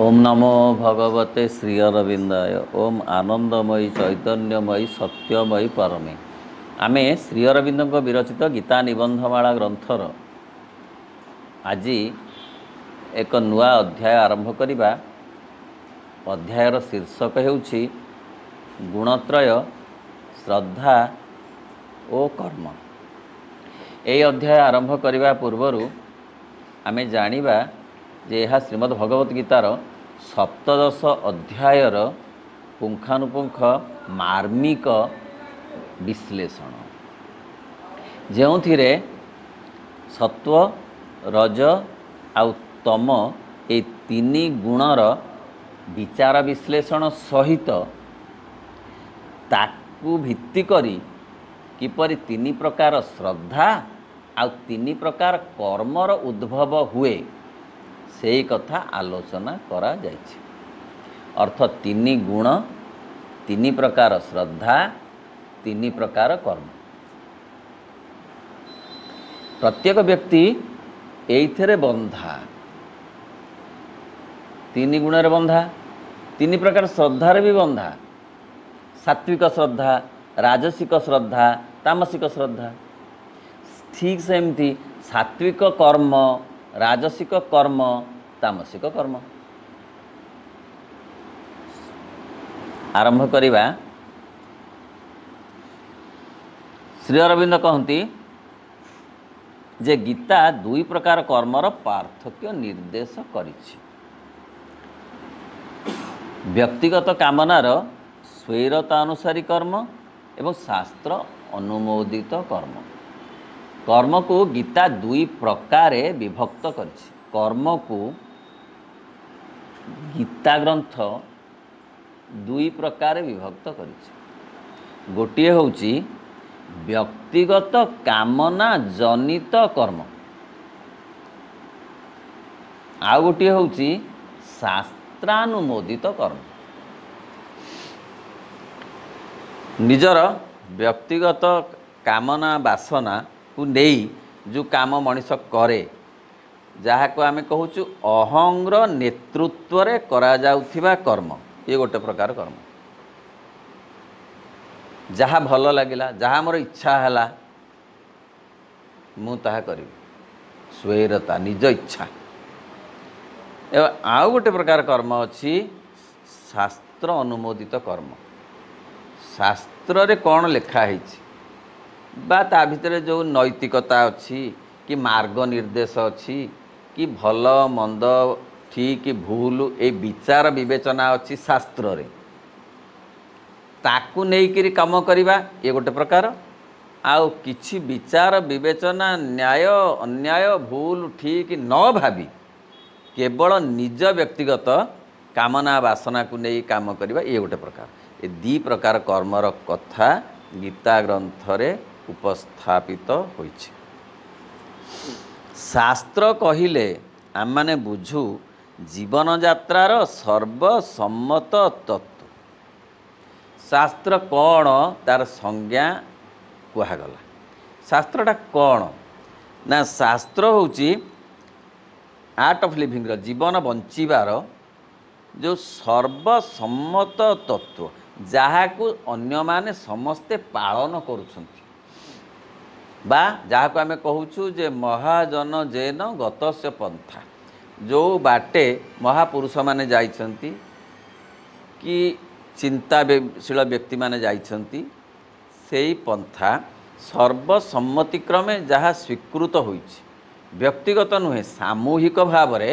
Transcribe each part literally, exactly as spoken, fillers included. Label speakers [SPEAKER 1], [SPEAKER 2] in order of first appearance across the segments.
[SPEAKER 1] ଓମ୍ ନମୋ ଭଗବତେ ଶ୍ରୀ ଅରବିନ୍ଦାୟ। ଓମ୍ ଆନନ୍ଦମୟୀ ଚୈତନ୍ୟମୟୀ ସତ୍ୟମୟୀ ପରମେ। ଆମେ ଶ୍ରୀ ଅରବିନ୍ଦଙ୍କ ବିରଚିତ ଗୀତା ନିବନ୍ଧମାଳା ଗ୍ରନ୍ଥର ଆଜି ଏକ ନୂଆ ଅଧ୍ୟାୟ ଆରମ୍ଭ କରିବା। ଅଧ୍ୟାୟର ଶୀର୍ଷକ ହେଉଛି ଗୁଣତ୍ରୟ, ଶ୍ରଦ୍ଧା ଓ କର୍ମ। ଏହି ଅଧ୍ୟାୟ ଆରମ୍ଭ କରିବା ପୂର୍ବରୁ ଆମେ ଜାଣିବା ଯେ ଏହା ଶ୍ରୀମଦ୍ ଭଗବତ ଗୀତାର ସପ୍ତଦଶ ଅଧ୍ୟାୟର ପୁଙ୍ଖାନୁପୁଙ୍ଖ ମାର୍ମିକ ବିଶ୍ଳେଷଣ, ଯେଉଁଥିରେ ସତ୍ୱ, ରଜ ଆଉ ତମ ଏ ତିନି ଗୁଣର ବିଚାର ବିଶ୍ଳେଷଣ ସହିତ ତାକୁ ଭିତ୍ତି କରି କିପରି ତିନି ପ୍ରକାର ଶ୍ରଦ୍ଧା ଆଉ ତିନି ପ୍ରକାର କର୍ମର ଉଦ୍ଭବ ହୁଏ, ସେଇ କଥା ଆଲୋଚନା କରାଯାଇଛି। ଅର୍ଥ ତିନି ଗୁଣ, ତିନି ପ୍ରକାର ଶ୍ରଦ୍ଧା, ତିନି ପ୍ରକାର କର୍ମ। ପ୍ରତ୍ୟେକ ବ୍ୟକ୍ତି ଏଇଥିରେ ବନ୍ଧା, ତିନି ଗୁଣରେ ବନ୍ଧା, ତିନି ପ୍ରକାର ଶ୍ରଦ୍ଧାରେ ବି ବନ୍ଧା। ସାତ୍ವಿକ ଶ୍ରଦ୍ଧା, ରାଜସିକ ଶ୍ରଦ୍ଧା, ତାମସିକ ଶ୍ରଦ୍ଧା। ଠିକ୍ ସେମିତି ସାତ୍ବିକ କର୍ମ, ରାଜସିକ କର୍ମ, ତାମସିକ କର୍ମ। ଆରମ୍ଭ କରିବା। ଶ୍ରୀ ଅରବିନ୍ଦ କହନ୍ତି ଯେ ଗୀତା ଦୁଇ ପ୍ରକାର କର୍ମର ପାର୍ଥକ୍ୟ ନିର୍ଦ୍ଦେଶ କରିଛି। ବ୍ୟକ୍ତିଗତ କାମନାର ସ୍ୱୈରତା ଅନୁସାରୀ କର୍ମ ଏବଂ ଶାସ୍ତ୍ର ଅନୁମୋଦିତ କର୍ମ। କର୍ମକୁ ଗୀତା ଦୁଇ ପ୍ରକାରେ ବିଭକ୍ତ କରିଛି। କର୍ମକୁ ଗୀତା ଗ୍ରନ୍ଥ ଦୁଇ ପ୍ରକାରେ ବିଭକ୍ତ କରିଛି। ଗୋଟିଏ ହେଉଛି ବ୍ୟକ୍ତିଗତ କାମନା ଜନିତ କର୍ମ, ଆଉ ଗୋଟିଏ ହେଉଛି ଶାସ୍ତ୍ରାନୁମୋଦିତ କର୍ମ। ନିଜର ବ୍ୟକ୍ତିଗତ କାମନା ବାସନାକୁ ନେଇ ଯେଉଁ କାମ ମଣିଷ କରେ, ଯାହାକୁ ଆମେ କହୁଛୁ ଅହଂର ନେତୃତ୍ୱରେ କରାଯାଉଥିବା କର୍ମ, ଇଏ ଗୋଟେ ପ୍ରକାର କର୍ମ। ଯାହା ଭଲ ଲାଗିଲା, ଯାହା ମୋର ଇଚ୍ଛା ହେଲା, ମୁଁ ତାହା କରିବି, ସ୍ୱୈରତା, ନିଜ ଇଚ୍ଛା। ଏବଂ ଆଉ ଗୋଟେ ପ୍ରକାର କର୍ମ ଅଛି ଶାସ୍ତ୍ର ଅନୁମୋଦିତ କର୍ମ। ଶାସ୍ତ୍ରରେ କ'ଣ ଲେଖା ହେଇଛି ବା ତା ଭିତରେ ଯେଉଁ ନୈତିକତା ଅଛି କି ମାର୍ଗ ନିର୍ଦ୍ଦେଶ ଅଛି କି ଭଲ ମନ୍ଦ ଠିକ୍ ଭୁଲ ଏଇ ବିଚାର ବିବେଚନା ଅଛି ଶାସ୍ତ୍ରରେ, ତାକୁ ନେଇକରି କାମ କରିବା ଇଏ ଗୋଟେ ପ୍ରକାର। ଆଉ କିଛି ବିଚାର ବିବେଚନା, ନ୍ୟାୟ ଅନ୍ୟାୟ, ଭୁଲ ଠିକ୍ ନ ଭାବି କେବଳ ନିଜ ବ୍ୟକ୍ତିଗତ କାମନା ବାସନାକୁ ନେଇ କାମ କରିବା ଇଏ ଗୋଟେ ପ୍ରକାର। ଏ ଦୁଇ ପ୍ରକାର କର୍ମର କଥା ଗୀତା ଗ୍ରନ୍ଥରେ ଉପସ୍ଥାପିତ ହୋଇଛି। ଶାସ୍ତ୍ର କହିଲେ ଆମମାନେ ବୁଝୁ ଜୀବନଯାତ୍ରାର ସର୍ବସମ୍ମତ ତତ୍ତ୍ୱ। ଶାସ୍ତ୍ର କ'ଣ ତାର ସଂଜ୍ଞା କୁହାଗଲା। ଶାସ୍ତ୍ରଟା କ'ଣ ନା, ଶାସ୍ତ୍ର ହେଉଛି ଆର୍ଟ ଅଫ୍ ଲିଭିଂର, ଜୀବନ ବଞ୍ଚିବାର ଯେଉଁ ସର୍ବସମ୍ମତ ତତ୍ତ୍ୱ, ଯାହାକୁ ଅନ୍ୟମାନେ ସମସ୍ତେ ପାଳନ କରୁଛନ୍ତି, ବା ଯାହାକୁ ଆମେ କହୁଛୁ ଯେ ମହାଜନ ଜେନ ଗତସ୍ୟ ପନ୍ଥା, ଯେଉଁ ବାଟେ ମହାପୁରୁଷମାନେ ଯାଇଛନ୍ତି କି ଚିନ୍ତାଶୀଳ ବ୍ୟକ୍ତିମାନେ ଯାଇଛନ୍ତି, ସେଇ ପନ୍ଥା ସର୍ବସମ୍ମତିକ୍ରମେ ଯାହା ସ୍ୱୀକୃତ ହୋଇଛି, ବ୍ୟକ୍ତିଗତ ନୁହେଁ, ସାମୂହିକ ଭାବରେ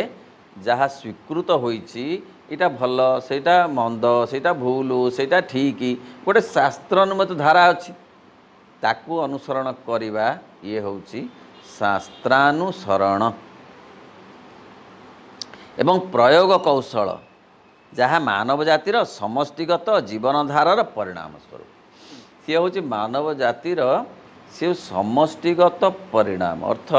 [SPEAKER 1] ଯାହା ସ୍ୱୀକୃତ ହୋଇଛି, ଏଇଟା ଭଲ, ସେଇଟା ମନ୍ଦ, ସେଇଟା ଭୁଲ, ସେଇଟା ଠିକ୍, ଗୋଟେ ଶାସ୍ତ୍ର ଅନୁମତ ଧାରା ଅଛି, ତାକୁ ଅନୁସରଣ କରିବା ଇଏ ହେଉଛି ଶାସ୍ତ୍ରାନୁସରଣ। ଏବଂ ପ୍ରୟୋଗ କୌଶଳ ଯାହା ମାନବ ଜାତିର ସମଷ୍ଟିଗତ ଜୀବନଧାରାର ପରିଣାମ ସ୍ୱରୂପ। ସିଏ ହେଉଛି ମାନବ ଜାତିର ସେ ସମଷ୍ଟିଗତ ପରିଣାମ, ଅର୍ଥ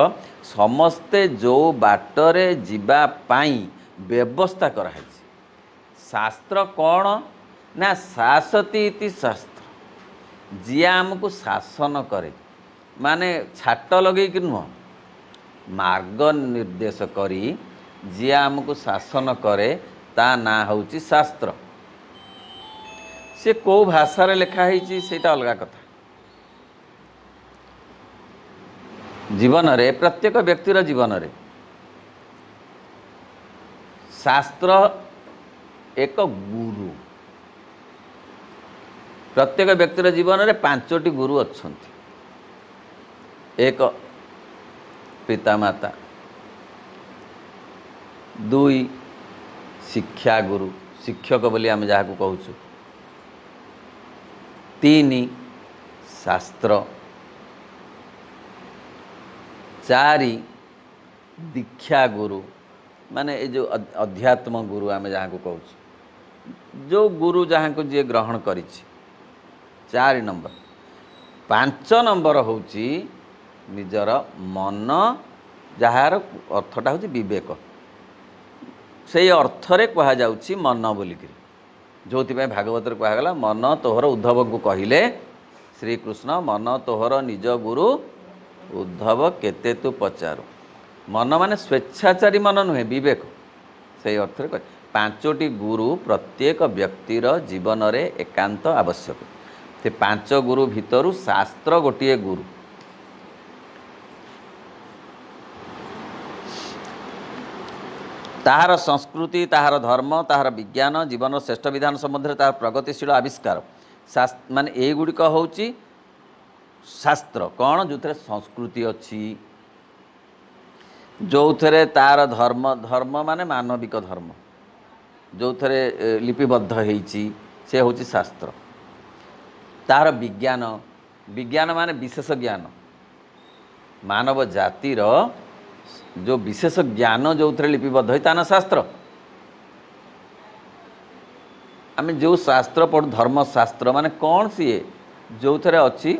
[SPEAKER 1] ସମସ୍ତେ ଯେଉଁ ବାଟରେ ଯିବା ପାଇଁ ବ୍ୟବସ୍ଥା କରାହେଇଛି। ଶାସ୍ତ୍ର କ'ଣ ନା ଶାସତି ଇତି ଶାସ୍ତ୍ର, ଯିଏ ଆମକୁ ଶାସନ କରେ, ମାନେ ଛାଟ ଲଗେଇକି ନୁହଁ, ମାର୍ଗ ନିର୍ଦ୍ଦେଶ କରି ଯିଏ ଆମକୁ ଶାସନ କରେ ତା ନାଁ ହେଉଛି ଶାସ୍ତ୍ର। ସେ କେଉଁ ଭାଷାରେ ଲେଖା ହେଇଛି ସେଇଟା ଅଲଗା କଥା। ଜୀବନରେ ପ୍ରତ୍ୟେକ ବ୍ୟକ୍ତିର ଜୀବନରେ ଶାସ୍ତ୍ର ଏକ ଗୁରୁ। ପ୍ରତ୍ୟେକ ବ୍ୟକ୍ତିର ଜୀବନରେ ପାଞ୍ଚଟି ଗୁରୁ ଅଛନ୍ତି। ଏକ ପିତାମାତା, ଦୁଇ ଶିକ୍ଷାଗୁରୁ, ଶିକ୍ଷକ ବୋଲି ଆମେ ଯାହାକୁ କହୁଛୁ, ତିନି ଶାସ୍ତ୍ର, ଚାରି ଦୀକ୍ଷାଗୁରୁ ମାନେ ଏ ଯେଉଁ ଅଧ୍ୟାତ୍ମ ଗୁରୁ ଆମେ ଯାହାକୁ କହୁଛୁ, ଯେଉଁ ଗୁରୁ ଯାହାଙ୍କୁ ଯିଏ ଗ୍ରହଣ କରିଛି, ଚାରି ନମ୍ବର। ପାଞ୍ଚ ନମ୍ବର ହେଉଛି ନିଜର ମନ, ଯାହାର ଅର୍ଥଟା ହେଉଛି ବିବେକ। ସେଇ ଅର୍ଥରେ କୁହାଯାଉଛି ମନ ବୋଲିକିରି, ଯେଉଁଥିପାଇଁ ଭାଗବତରେ କୁହାଗଲା ମନ ତୋହର, ଉଦ୍ଧବଙ୍କୁ କହିଲେ ଶ୍ରୀକୃଷ୍ଣ, ମନ ତୋହର ନିଜ ଗୁରୁ ଉଦ୍ଧବ କେତେ ତୁ ପଚାରୁ। ମନ ମାନେ ସ୍ୱେଚ୍ଛାଚାରୀ ମନ ନୁହେଁ, ବିବେକ, ସେଇ ଅର୍ଥରେ କହ। ପାଞ୍ଚଟି ଗୁରୁ ପ୍ରତ୍ୟେକ ବ୍ୟକ୍ତିର ଜୀବନରେ ଏକାନ୍ତ ଆବଶ୍ୟକ। ସେ ପାଞ୍ଚ ଗୁରୁ ଭିତରୁ ଶାସ୍ତ୍ର ଗୋଟିଏ ଗୁରୁ। ତାହାର ସଂସ୍କୃତି, ତାହାର ଧର୍ମ, ତାହାର ବିଜ୍ଞାନ, ଜୀବନର ଶ୍ରେଷ୍ଠ ବିଧାନ ସମ୍ବନ୍ଧରେ ତାହାର ପ୍ରଗତିଶୀଳ ଆବିଷ୍କାର, ମାନେ ଏଇଗୁଡ଼ିକ ହେଉଛି ଶାସ୍ତ୍ର। କ'ଣ? ଯେଉଁଥିରେ ସଂସ୍କୃତି ଅଛି, ଯେଉଁଥିରେ ତାର ଧର୍ମ, ଧର୍ମ ମାନେ ମାନବିକ ଧର୍ମ, ଯେଉଁଥିରେ ଲିପିବଦ୍ଧ ହେଇଛି, ସେ ହେଉଛି ଶାସ୍ତ୍ର। ତାହାର ବିଜ୍ଞାନ, ବିଜ୍ଞାନ ମାନେ ବିଶେଷ ଜ୍ଞାନ, ମାନବ ଜାତିର ଯେଉଁ ବିଶେଷ ଜ୍ଞାନ ଯେଉଁଥିରେ ଲିପିବଦ୍ଧ ହେଇ ତା ନା ଶାସ୍ତ୍ର। ଆମେ ଯେଉଁ ଶାସ୍ତ୍ର ପଢ଼ୁ ଧର୍ମଶାସ୍ତ୍ର ମାନେ କ'ଣ? ସିଏ ଯେଉଁଥିରେ ଅଛି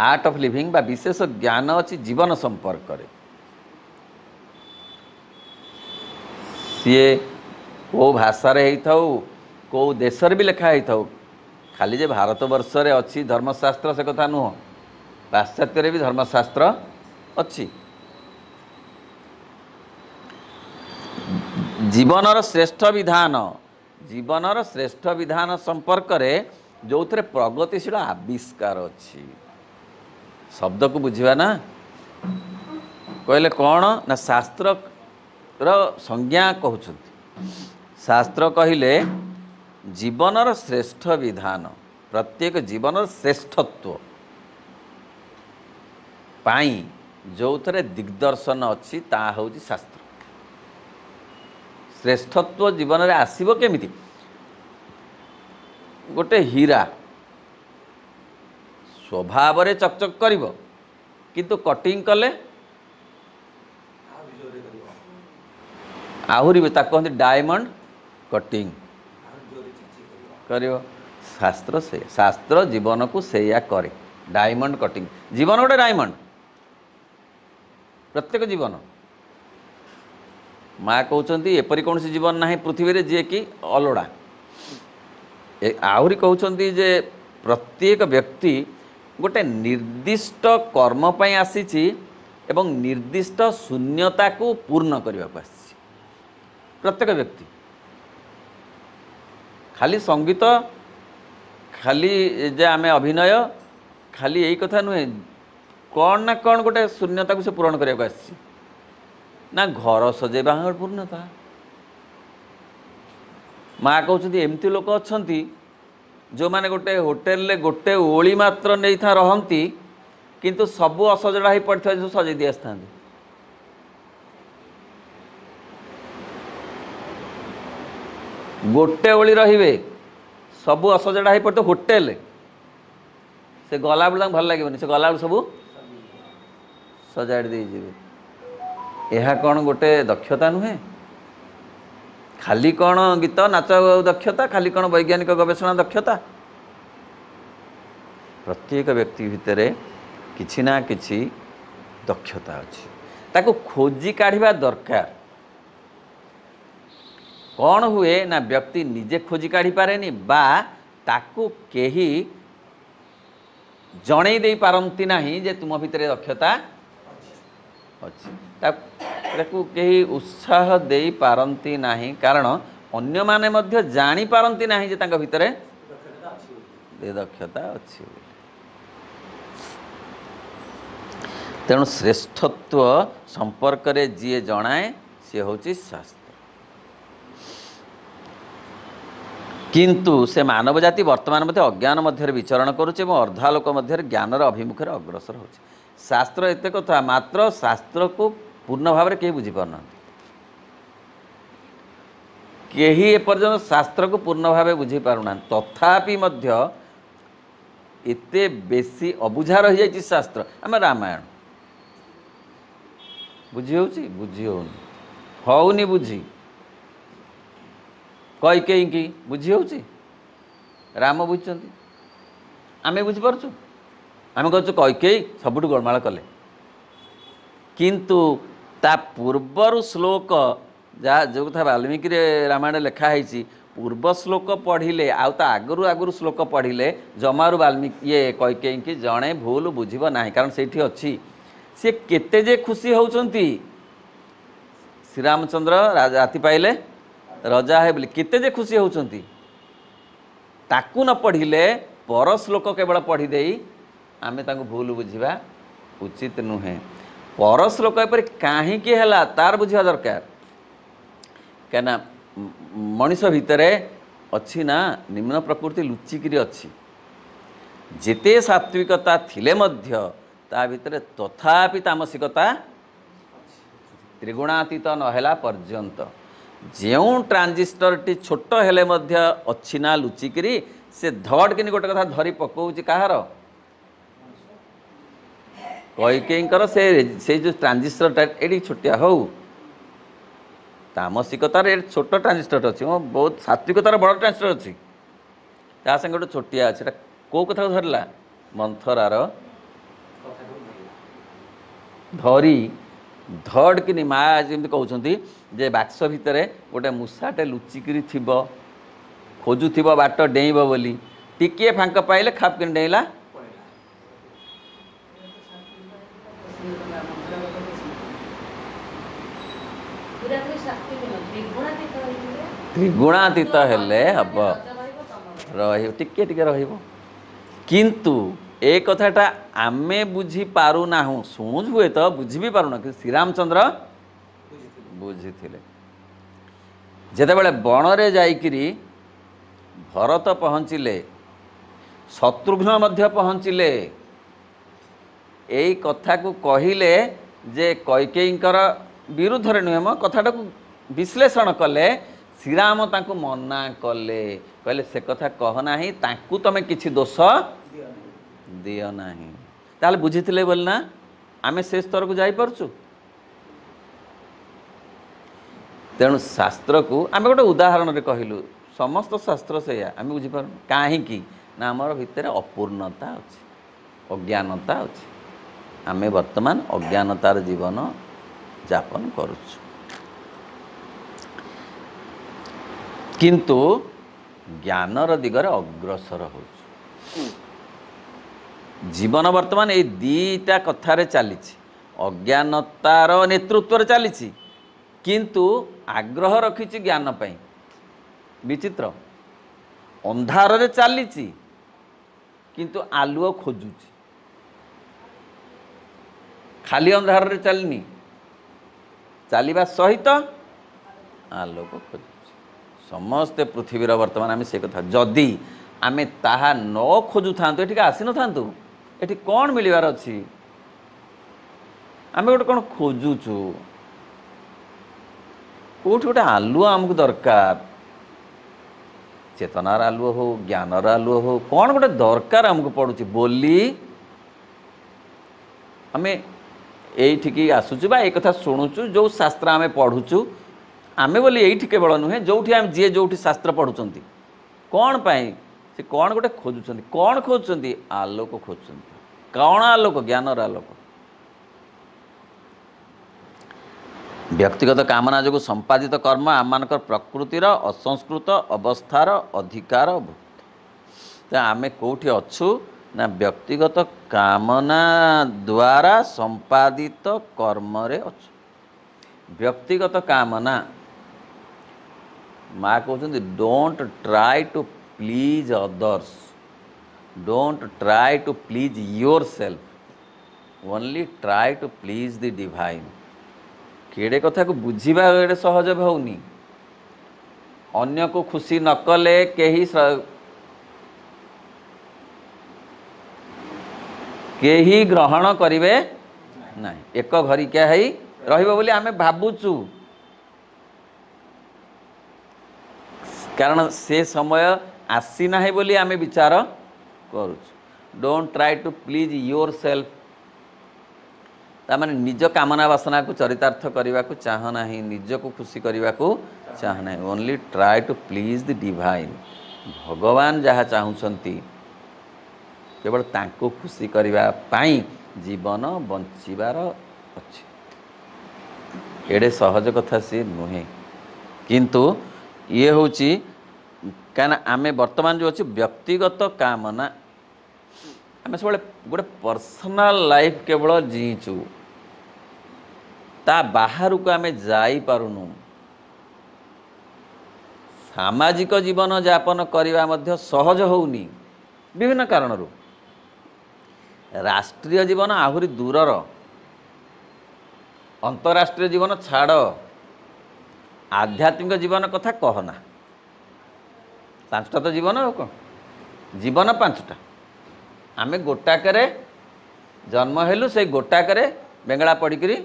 [SPEAKER 1] ଆର୍ଟ ଅଫ୍ ଲିଭିଂ ବା ବିଶେଷ ଜ୍ଞାନ ଅଛି ଜୀବନ ସମ୍ପର୍କରେ। ସିଏ କେଉଁ ଭାଷାରେ ହେଇଥାଉ, କେଉଁ ଦେଶରେ ବି ଲେଖା ହେଇଥାଉ, ଖାଲି ଯେ ଭାରତବର୍ଷରେ ଅଛି ଧର୍ମଶାସ୍ତ୍ର ସେ କଥା ନୁହଁ, ପାଶ୍ଚାତ୍ୟରେ ବି ଧର୍ମଶାସ୍ତ୍ର ଅଛି। ଜୀବନର ଶ୍ରେଷ୍ଠ ବିଧାନ, ଜୀବନର ଶ୍ରେଷ୍ଠ ବିଧାନ ସମ୍ପର୍କରେ ଯେଉଁଥିରେ ପ୍ରଗତିଶୀଳ ଆବିଷ୍କାର ଅଛି। ଶବ୍ଦକୁ ବୁଝିବା ନା, କହିଲେ କ'ଣ ନା ଶାସ୍ତ୍ରର ସଂଜ୍ଞା କହୁଛନ୍ତି। ଶାସ୍ତ୍ର କହିଲେ ଜୀବନର ଶ୍ରେଷ୍ଠ ବିଧାନ, ପ୍ରତ୍ୟେକ ଜୀବନର ଶ୍ରେଷ୍ଠତ୍ୱ ପାଇଁ ଯେଉଁଥିରେ ଦିଗ୍ଦର୍ଶନ ଅଛି ତାହା ହେଉଛି ଶାସ୍ତ୍ର। ଶ୍ରେଷ୍ଠତ୍ୱ ଜୀବନରେ ଆସିବ କେମିତି? ଗୋଟେ ହୀରା ସ୍ୱଭାବରେ ଚକଚକ କରିବ, କିନ୍ତୁ କଟିଂ କଲେ ଆହୁରି, ତାକୁ କହନ୍ତି ଡାଇମଣ୍ଡ କଟିଂ କରିବ। ଶାସ୍ତ୍ର ସେ ଶାସ୍ତ୍ର ଜୀବନକୁ ସେଇଆ କରେ, ଡାଇମଣ୍ଡ କଟିଂ। ଜୀବନ ଗୋଟେ ଡାଇମଣ୍ଡ, ପ୍ରତ୍ୟେକ ଜୀବନ। ମା କହୁଛନ୍ତି ଏପରି କୌଣସି ଜୀବନ ନାହିଁ ପୃଥିବୀରେ ଯିଏକି ଅଲୋଡ଼ା। ଆହୁରି କହୁଛନ୍ତି ଯେ ପ୍ରତ୍ୟେକ ବ୍ୟକ୍ତି ଗୋଟେ ନିର୍ଦ୍ଦିଷ୍ଟ କର୍ମ ପାଇଁ ଆସିଛି ଏବଂ ନିର୍ଦ୍ଦିଷ୍ଟ ଶୂନ୍ୟତାକୁ ପୂର୍ଣ୍ଣ କରିବାକୁ ଆସିଛି। ପ୍ରତ୍ୟେକ ବ୍ୟକ୍ତି ଖାଲି ସଙ୍ଗୀତ, ଖାଲି ଯେ ଆମେ ଅଭିନୟ, ଖାଲି ଏଇ କଥା ନୁହେଁ, କ'ଣ ନା କ'ଣ ଗୋଟେ ଶୂନ୍ୟତାକୁ ସେ ପୂରଣ କରିବାକୁ ଆସିଛି। ନା ଘର ସଜେଇବା ପୂର୍ଣ୍ଣତା। ମା କହୁଛନ୍ତି ଏମିତି ଲୋକ ଅଛନ୍ତି ଯେଉଁମାନେ ଗୋଟେ ହୋଟେଲରେ ଗୋଟେ ଓଳି ମାତ୍ର ନେଇଥା ରହନ୍ତି, କିନ୍ତୁ ସବୁ ଅସଜଡ଼ା ହେଇ ପଡ଼ିଥିବା ଜିନିଷ ସଜେଇ ଦେଇ ଆସିଥାନ୍ତି। ଗୋଟେ ଓଳି ରହିବେ, ସବୁ ଅସଜଡ଼ା ହେଇ ପଡ଼ିଥିବ ହୋଟେଲ, ସେ ଗଲାବେଳକୁ ତାଙ୍କୁ ଭଲ ଲାଗିବନି, ସେ ଗଲାବେଳକୁ ସବୁ ସଜାଡ଼ି ଦେଇଯିବେ। ଏହା କ'ଣ ଗୋଟେ ଦକ୍ଷତା ନୁହେଁ? ଖାଲି କ'ଣ ଗୀତ ନାଚ ଦକ୍ଷତା, ଖାଲି କ'ଣ ବୈଜ୍ଞାନିକ ଗବେଷଣା ଦକ୍ଷତା? ପ୍ରତ୍ୟେକ ବ୍ୟକ୍ତି ଭିତରେ କିଛି ନା କିଛି ଦକ୍ଷତା ଅଛି, ତାକୁ ଖୋଜି କାଢ଼ିବା ଦରକାର। କ'ଣ ହୁଏ ନା ବ୍ୟକ୍ତି ନିଜେ ଖୋଜି କାଢ଼ିପାରେନି ବା ତାକୁ କେହି ଜଣେଇ ଦେଇପାରନ୍ତି ନାହିଁ ଯେ ତୁମ ଭିତରେ ଦକ୍ଷତା ଅଛି, ତାକୁ କେହି ଉତ୍ସାହ ଦେଇପାରନ୍ତି ନାହିଁ। କାରଣ ଅନ୍ୟମାନେ ମଧ୍ୟ ଜାଣିପାରନ୍ତି ନାହିଁ ଯେ ତାଙ୍କ ଭିତରେ ଦକ୍ଷତା ଅଛି ବୋଲି। ତେଣୁ ଶ୍ରେଷ୍ଠତ୍ୱ ସମ୍ପର୍କରେ ଯିଏ ଜଣାଏ ସିଏ ହେଉଛି ଶାସ୍ତ୍ର। କିନ୍ତୁ ସେ ମାନବ ଜାତି ବର୍ତ୍ତମାନ ମଧ୍ୟ ଅଜ୍ଞାନ ମଧ୍ୟରେ ବିଚରଣ କରୁଛି ଏବଂ ଅର୍ଦ୍ଧାଲୋକ ମଧ୍ୟରେ ଜ୍ଞାନର ଅଭିମୁଖରେ ଅଗ୍ରସର ହେଉଛି। ଶାସ୍ତ୍ର ଏତେ କଥା, ମାତ୍ର ଶାସ୍ତ୍ରକୁ ପୂର୍ଣ୍ଣ ଭାବରେ କେହି ବୁଝିପାରୁନାହାନ୍ତି। କେହି ଏପର୍ଯ୍ୟନ୍ତ ଶାସ୍ତ୍ରକୁ ପୂର୍ଣ୍ଣ ଭାବେ ବୁଝିପାରୁନାହାନ୍ତି। ତଥାପି ମଧ୍ୟ ଏତେ ବେଶୀ ଅବୁଝା ରହିଯାଇଛି ଶାସ୍ତ୍ର। ଆମେ ରାମାୟଣ ବୁଝି ହେଉଛି? ବୁଝି ହେଉନି, ହେଉନି ବୁଝି। କୈକେୟୀଙ୍କି ବୁଝି ହେଉଛି? ରାମ ବୁଝିଛନ୍ତି, ଆମେ ବୁଝିପାରୁଛୁ? ଆମେ କହୁଛୁ କୈକେୟୀ ସବୁଠୁ ଗୋଳମାଳ କଲେ, କିନ୍ତୁ ତା ପୂର୍ବରୁ ଶ୍ଲୋକ ଯାହା ଯେଉଁ କଥା ବାଲ୍ମୀକିରେ ରାମାୟଣ ଲେଖା ହେଇଛି, ପୂର୍ବ ଶ୍ଲୋକ ପଢ଼ିଲେ ଆଉ ତା ଆଗରୁ ଆଗରୁ ଶ୍ଲୋକ ପଢ଼ିଲେ ଜମାରୁ ବାଲ୍ମୀକି ଇଏ କୈକେୟୀଙ୍କି ଜଣେ ଭୁଲ ବୁଝିବ ନାହିଁ। କାରଣ ସେଇଠି ଅଛି ସିଏ କେତେ ଯେ ଖୁସି ହେଉଛନ୍ତି, ଶ୍ରୀରାମଚନ୍ଦ୍ର ରାତି ପାଇଲେ ରଜା ହେ ବୋଲି କେତେ ଯେ ଖୁସି ହେଉଛନ୍ତି। ତାକୁ ନ ପଢ଼ିଲେ ପର ଶ୍ଲୋକ କେବଳ ପଢ଼ିଦେଇ ଆମେ ତାଙ୍କୁ ଭୁଲ ବୁଝିବା ଉଚିତ ନୁହେଁ। ପର ଶ୍ଲୋକ ଏପରି କାହିଁକି ହେଲା ତାର ବୁଝିବା ଦରକାର। କାହିଁକିନା ମଣିଷ ଭିତରେ ଅଛି ନା ନିମ୍ନ ପ୍ରକୃତି ଲୁଚିକିରି ଅଛି। ଯେତେ ସାତ୍ವಿକତା ଥିଲେ ମଧ୍ୟ ତା ଭିତରେ ତଥାପି ତାମସିକତା ତ୍ରିଗୁଣାତୀତ ନହେଲା ପର୍ଯ୍ୟନ୍ତ, ଯେଉଁ ଟ୍ରାଞ୍ଜିଷ୍ଟରଟି ଛୋଟ ହେଲେ ମଧ୍ୟ ଅଛି ନା ଲୁଚିକିରି, ସେ ଧଡ଼କିନି ଗୋଟେ କଥା ଧରି ପକାଉଛି କାହାର? କୈକେୟୀଙ୍କର ସେ ସେଇ ଯେଉଁ ଟ୍ରାଞ୍ଜିଷ୍ଟରଟା ଏଠି ଛୋଟିଆ ହଉ, ତାମସିକତାର ଏ ଛୋଟ ଟ୍ରାଞ୍ଜିଷ୍ଟରଟା ଅଛି, ବହୁତ ସାତ୍ವಿକତାର ବଡ଼ ଟ୍ରାଞ୍ଜିଷ୍ଟର ଅଛି, ତା ସାଙ୍ଗେ ଗୋଟେ ଛୋଟିଆ ଅଛି। ଏଇଟା କେଉଁ କଥାକୁ ଧରିଲା? ମନ୍ଥରାର ଧରି ଧଡ଼କିନି ମା ଯେମିତି କହୁଛନ୍ତି ଯେ ବାକ୍ସ ଭିତରେ ଗୋଟେ ମୂଷାଟେ ଲୁଚିକିରି ଥିବ, ଖୋଜୁଥିବ ବାଟ ଡେଇଁବ ବୋଲି, ଟିକିଏ ଫାଙ୍କ ପାଇଲେ ଖାପକିନି ଡେଇଁଲା। ତ୍ରିଗୁଣାତୀତ ହେଲେ ହବ, ରହିବ ଟିକେ ଟିକେ ରହିବ। କିନ୍ତୁ ଏ କଥାଟା ଆମେ ବୁଝିପାରୁନାହୁଁ, ଶୁଣୁଛୁ ହୁଏତ ବୁଝି ବି ପାରୁନାହୁଁ, କିନ୍ତୁ ଶ୍ରୀରାମଚନ୍ଦ୍ର ବୁଝିଥିଲେ। ଯେତେବେଳେ ବଣରେ ଯାଇକିରି ଭରତ ପହଞ୍ଚିଲେ, ଶତ୍ରୁଘ୍ନ ମଧ୍ୟ ପହଞ୍ଚିଲେ, ଏଇ କଥାକୁ କହିଲେ ଯେ କୈକେୟୀଙ୍କର ବିରୁଦ୍ଧରେ ନୁହେଁ ମ, କଥାଟାକୁ ବିଶ୍ଳେଷଣ କଲେ। ଶ୍ରୀରାମ ତାଙ୍କୁ ମନା କଲେ, କହିଲେ ସେ କଥା କହ ନାହିଁ, ତାଙ୍କୁ ତମେ କିଛି ଦୋଷ ଦିଅ ନାହିଁ। ତାହେଲେ ବୁଝିଥିଲେ ବୋଲି ନା ଆମେ ସେ ସ୍ତରକୁ ଯାଇପାରୁଛୁ। ତେଣୁ ଶାସ୍ତ୍ରକୁ ଆମେ ଗୋଟେ ଉଦାହରଣରେ କହିଲୁ, ସମସ୍ତ ଶାସ୍ତ୍ର ସେଇଆ, ଆମେ ବୁଝିପାରୁନୁ କାହିଁକି ନା ଆମର ଭିତରେ ଅପୂର୍ଣ୍ଣତା ଅଛି, ଅଜ୍ଞାନତା ଅଛି। ଆମେ ବର୍ତ୍ତମାନ ଅଜ୍ଞାନତାର ଜୀବନ ଯାପନ କରୁଛୁ। କିନ୍ତୁ ଜ୍ଞାନର ଦିଗରେ ଅଗ୍ରସର ହେଉଛୁ। ଜୀବନ ବର୍ତ୍ତମାନ ଏଇ ଦୁଇଟା କଥାରେ ଚାଲିଛି, ଅଜ୍ଞାନତାର ନେତୃତ୍ୱରେ ଚାଲିଛି, କିନ୍ତୁ ଆଗ୍ରହ ରଖିଛି ଜ୍ଞାନ ପାଇଁ। ବିଚିତ୍ର, ଅନ୍ଧାରରେ ଚାଲିଛି କିନ୍ତୁ ଆଲୁଅ ଖୋଜୁଛି। ଖାଲି ଅନ୍ଧାରରେ ଚାଲିନି, ଚାଲିବା ସହିତ ଆଲୋକ ଖୋଜୁଛି। ସମସ୍ତେ ପୃଥିବୀର ବର୍ତ୍ତମାନ ଆମେ ସେ କଥା, ଯଦି ଆମେ ତାହା ନ ଖୋଜୁଥାନ୍ତୁ ଏଠିକି ଆସିନଥାନ୍ତୁ। ଏଠି କ'ଣ ମିଳିବାର ଅଛି? ଆମେ ଗୋଟେ କ'ଣ ଖୋଜୁଛୁ, କେଉଁଠି ଗୋଟେ ଆଲୁଅ ଆମକୁ ଦରକାର, ଚେତନାର ଆଲୁଅ ହଉ, ଜ୍ଞାନର ଆଲୁଅ ହଉ, କ'ଣ ଗୋଟେ ଦରକାର ଆମକୁ ପଡ଼ୁଛି ବୋଲି ଆମେ ଏଇଠିକି ଆସୁଛୁ ବା ଏ କଥା ଶୁଣୁଛୁ। ଯେଉଁ ଶାସ୍ତ୍ର ଆମେ ପଢ଼ୁଛୁ, ଆମେ ବୋଲି ଏଇଠି କେବଳ ନୁହେଁ, ଯେଉଁଠି ଆମେ ଯିଏ ଯେଉଁଠି ଶାସ୍ତ୍ର ପଢ଼ୁଛନ୍ତି, କ'ଣ ପାଇଁ ସେ କ'ଣ ଗୋଟେ ଖୋଜୁଛନ୍ତି? କ'ଣ ଖୋଜୁଛନ୍ତି? ଆଲୋକ ଖୋଜୁଛନ୍ତି। କ'ଣ ଆଲୋକ? ଜ୍ଞାନର ଆଲୋକ। ବ୍ୟକ୍ତିଗତ କାମନା ଯୋଗୁଁ ସମ୍ପାଦିତ କର୍ମ ଆମମାନଙ୍କର ପ୍ରକୃତିର ଅସଂସ୍କୃତ ଅବସ୍ଥାର ଅଧିକାର ଭୁକ୍ତ। ତ ଆମେ କେଉଁଠି ଅଛୁ ନା ବ୍ୟକ୍ତିଗତ କାମନା ଦ୍ୱାରା ସମ୍ପାଦିତ କର୍ମରେ ଅଛୁ। ବ୍ୟକ୍ତିଗତ କାମନା, ମା କହୁଛନ୍ତି don't try to please others, don't try to please yourself, only try to please the divine. କେଡ଼େ କଥାକୁ ବୁଝିବା ଏଡ଼େ ସହଜ ହେଉନି। ଅନ୍ୟକୁ ଖୁସି ନ କଲେ କେହି କେହି ଗ୍ରହଣ କରିବେ ନାହିଁ। ଏକ ଘରିକିଆ ହେଇ ରହିବ ବୋଲି ଆମେ ଭାବୁଛୁ, କାରଣ ସେ ସମୟ ଆସିନାହିଁ ବୋଲି ଆମେ ବିଚାର କରୁଛୁ। Don't try to please yourself, ତାମାନେ ନିଜ କାମନା ବାସନାକୁ ଚରିତାର୍ଥ କରିବାକୁ ଚାହଁ ନାହିଁ, ନିଜକୁ ଖୁସି କରିବାକୁ ଚାହଁ ନାହିଁ। Only try to please the divine. ଭଗବାନ ଯାହା ଚାହୁଁଛନ୍ତି କେବଳ ତାଙ୍କୁ ଖୁସି କରିବା ପାଇଁ ଜୀବନ ବଞ୍ଚିବାର ଅଛି। ଏଡ଼େ ସହଜ କଥା ସିଏ ନୁହେଁ, କିନ୍ତୁ ଇଏ ହେଉଛି କାହିଁକିନା ଆମେ ବର୍ତ୍ତମାନ ଯେଉଁ ଅଛି ବ୍ୟକ୍ତିଗତ କାମନା, ଆମେ ସବୁବେଳେ ଗୋଟେ ପର୍ସନାଲ ଲାଇଫ୍ କେବଳ ଜିଇଁଛୁ, ତା ବାହାରକୁ ଆମେ ଯାଇପାରୁନୁ। ସାମାଜିକ ଜୀବନ ଯାପନ କରିବା ମଧ୍ୟ ସହଜ ହେଉନି ବିଭିନ୍ନ କାରଣରୁ। ରାଷ୍ଟ୍ରୀୟ ଜୀବନ ଆହୁରି ଦୂରର, ଅନ୍ତରାଷ୍ଟ୍ରୀୟ ଜୀବନ ଛାଡ଼, ଆଧ୍ୟାତ୍ମିକ ଜୀବନ କଥା କହନା। ପାଞ୍ଚଟା ତ ଜୀବନ, ଆଉ କ'ଣ ଜୀବନ ପାଞ୍ଚଟା। ଆମେ ଗୋଟାକରେ ଜନ୍ମ ହେଲୁ, ସେଇ ଗୋଟାକରେ ବେଙ୍ଗଳା ପଡ଼ିକିରି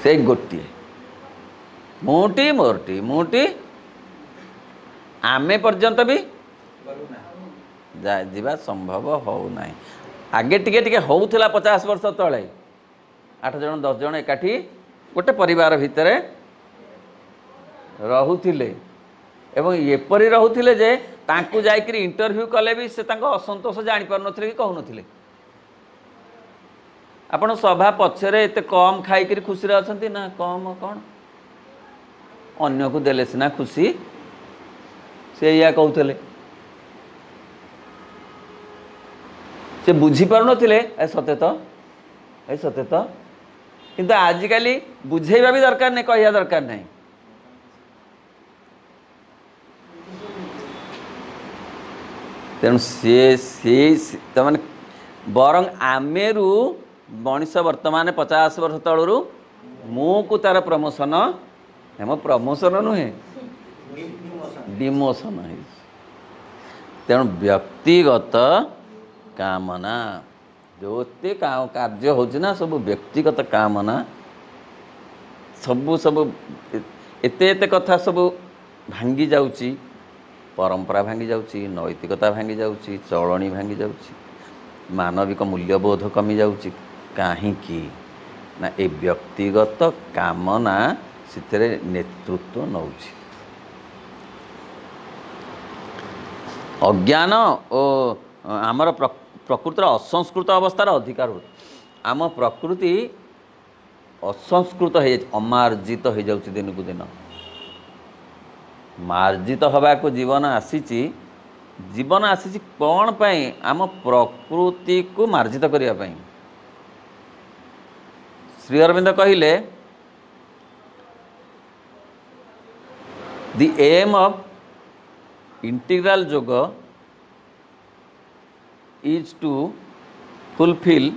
[SPEAKER 1] ସେଇ ଗୋଟିଏ ମୁଁଟି ମୋରଟି ମୁଁଟି, ଆମେ ପର୍ଯ୍ୟନ୍ତ ବି ଯିବା ସମ୍ଭବ ହେଉନାହିଁ। ଆଗେ ଟିକେ ଟିକେ ହେଉଥିଲା ପଚାଶ ବର୍ଷ ତଳେ, ଆଠ ଜଣ ଦଶ ଜଣ ଏକାଠି ଗୋଟେ ପରିବାର ଭିତରେ ରହୁଥିଲେ, ଏବଂ ଏପରି ରହୁଥିଲେ ଯେ ତାଙ୍କୁ ଯାଇକରି ଇଣ୍ଟରଭ୍ୟୁ କଲେ ବି ସେ ତାଙ୍କ ଅସନ୍ତୋଷ ଜାଣିପାରୁନଥିଲେ କି କହୁନଥିଲେ। ଆପଣ ସଭା ପଛରେ ଏତେ କମ୍ ଖାଇକରି ଖୁସିରେ ଅଛନ୍ତି ନା? କମ୍ କ'ଣ, ଅନ୍ୟକୁ ଦେଲେ ସିନା ଖୁସି, ସେ ଏଇଆ କହୁଥିଲେ। ସେ ବୁଝିପାରୁନଥିଲେ, ଏ ସତେ ତ, ଏ ସତେ ତ। କିନ୍ତୁ ଆଜିକାଲି ବୁଝେଇବା ବି ଦରକାର ନାହିଁ, କହିବା ଦରକାର ନାହିଁ। ତେଣୁ ସିଏ ସେଇ ତାମାନେ ବରଂ ଆମେରୁ ମଣିଷ ବର୍ତ୍ତମାନ ପଚାଶ ବର୍ଷ ତଳରୁ ମୁଁକୁ ତାର ପ୍ରମୋସନ, ମୋ ପ୍ରମୋସନ ନୁହେଁ ଡିମୋସନ ହେଇଛି। ତେଣୁ ବ୍ୟକ୍ତିଗତ କାମନା ଯେତେ କାର୍ଯ୍ୟ ହେଉଛି ନା ସବୁ ବ୍ୟକ୍ତିଗତ କାମନା, ସବୁ ସବୁ ଏତେ ଏତେ କଥା ସବୁ ଭାଙ୍ଗି ଯାଉଛି, ପରମ୍ପରା ଭାଙ୍ଗି ଯାଉଛି, ନୈତିକତା ଭାଙ୍ଗି ଯାଉଛି, ଚଳଣି ଭାଙ୍ଗି ଯାଉଛି, ମାନବିକ ମୂଲ୍ୟବୋଧ କମି ଯାଉଛି। କାହିଁକି ନା ଏ ବ୍ୟକ୍ତିଗତ କାମନା ସେଥିରେ ନେତୃତ୍ୱ ନେଉଛି। ଅଜ୍ଞାନ ଓ ଆମର ପ୍ରକୃତିର ଅସଂସ୍କୃତ ଅବସ୍ଥାର ଅଧିକାର ହୁଏ। ଆମ ପ୍ରକୃତି ଅସଂସ୍କୃତ ହେଇଯାଇଛି, ଅମାର୍ଜିତ ହେଇଯାଉଛି ଦିନକୁ ଦିନ। ମାର୍ଜିତ ହେବାକୁ ଜୀବନ ଆସିଛି। ଜୀବନ ଆସିଛି କ'ଣ ପାଇଁ? ଆମ ପ୍ରକୃତିକୁ ମାର୍ଜିତ କରିବା ପାଇଁ। ଶ୍ରୀ ଅରବିନ୍ଦ କହିଲେ, the aim of integral yoga is to fulfil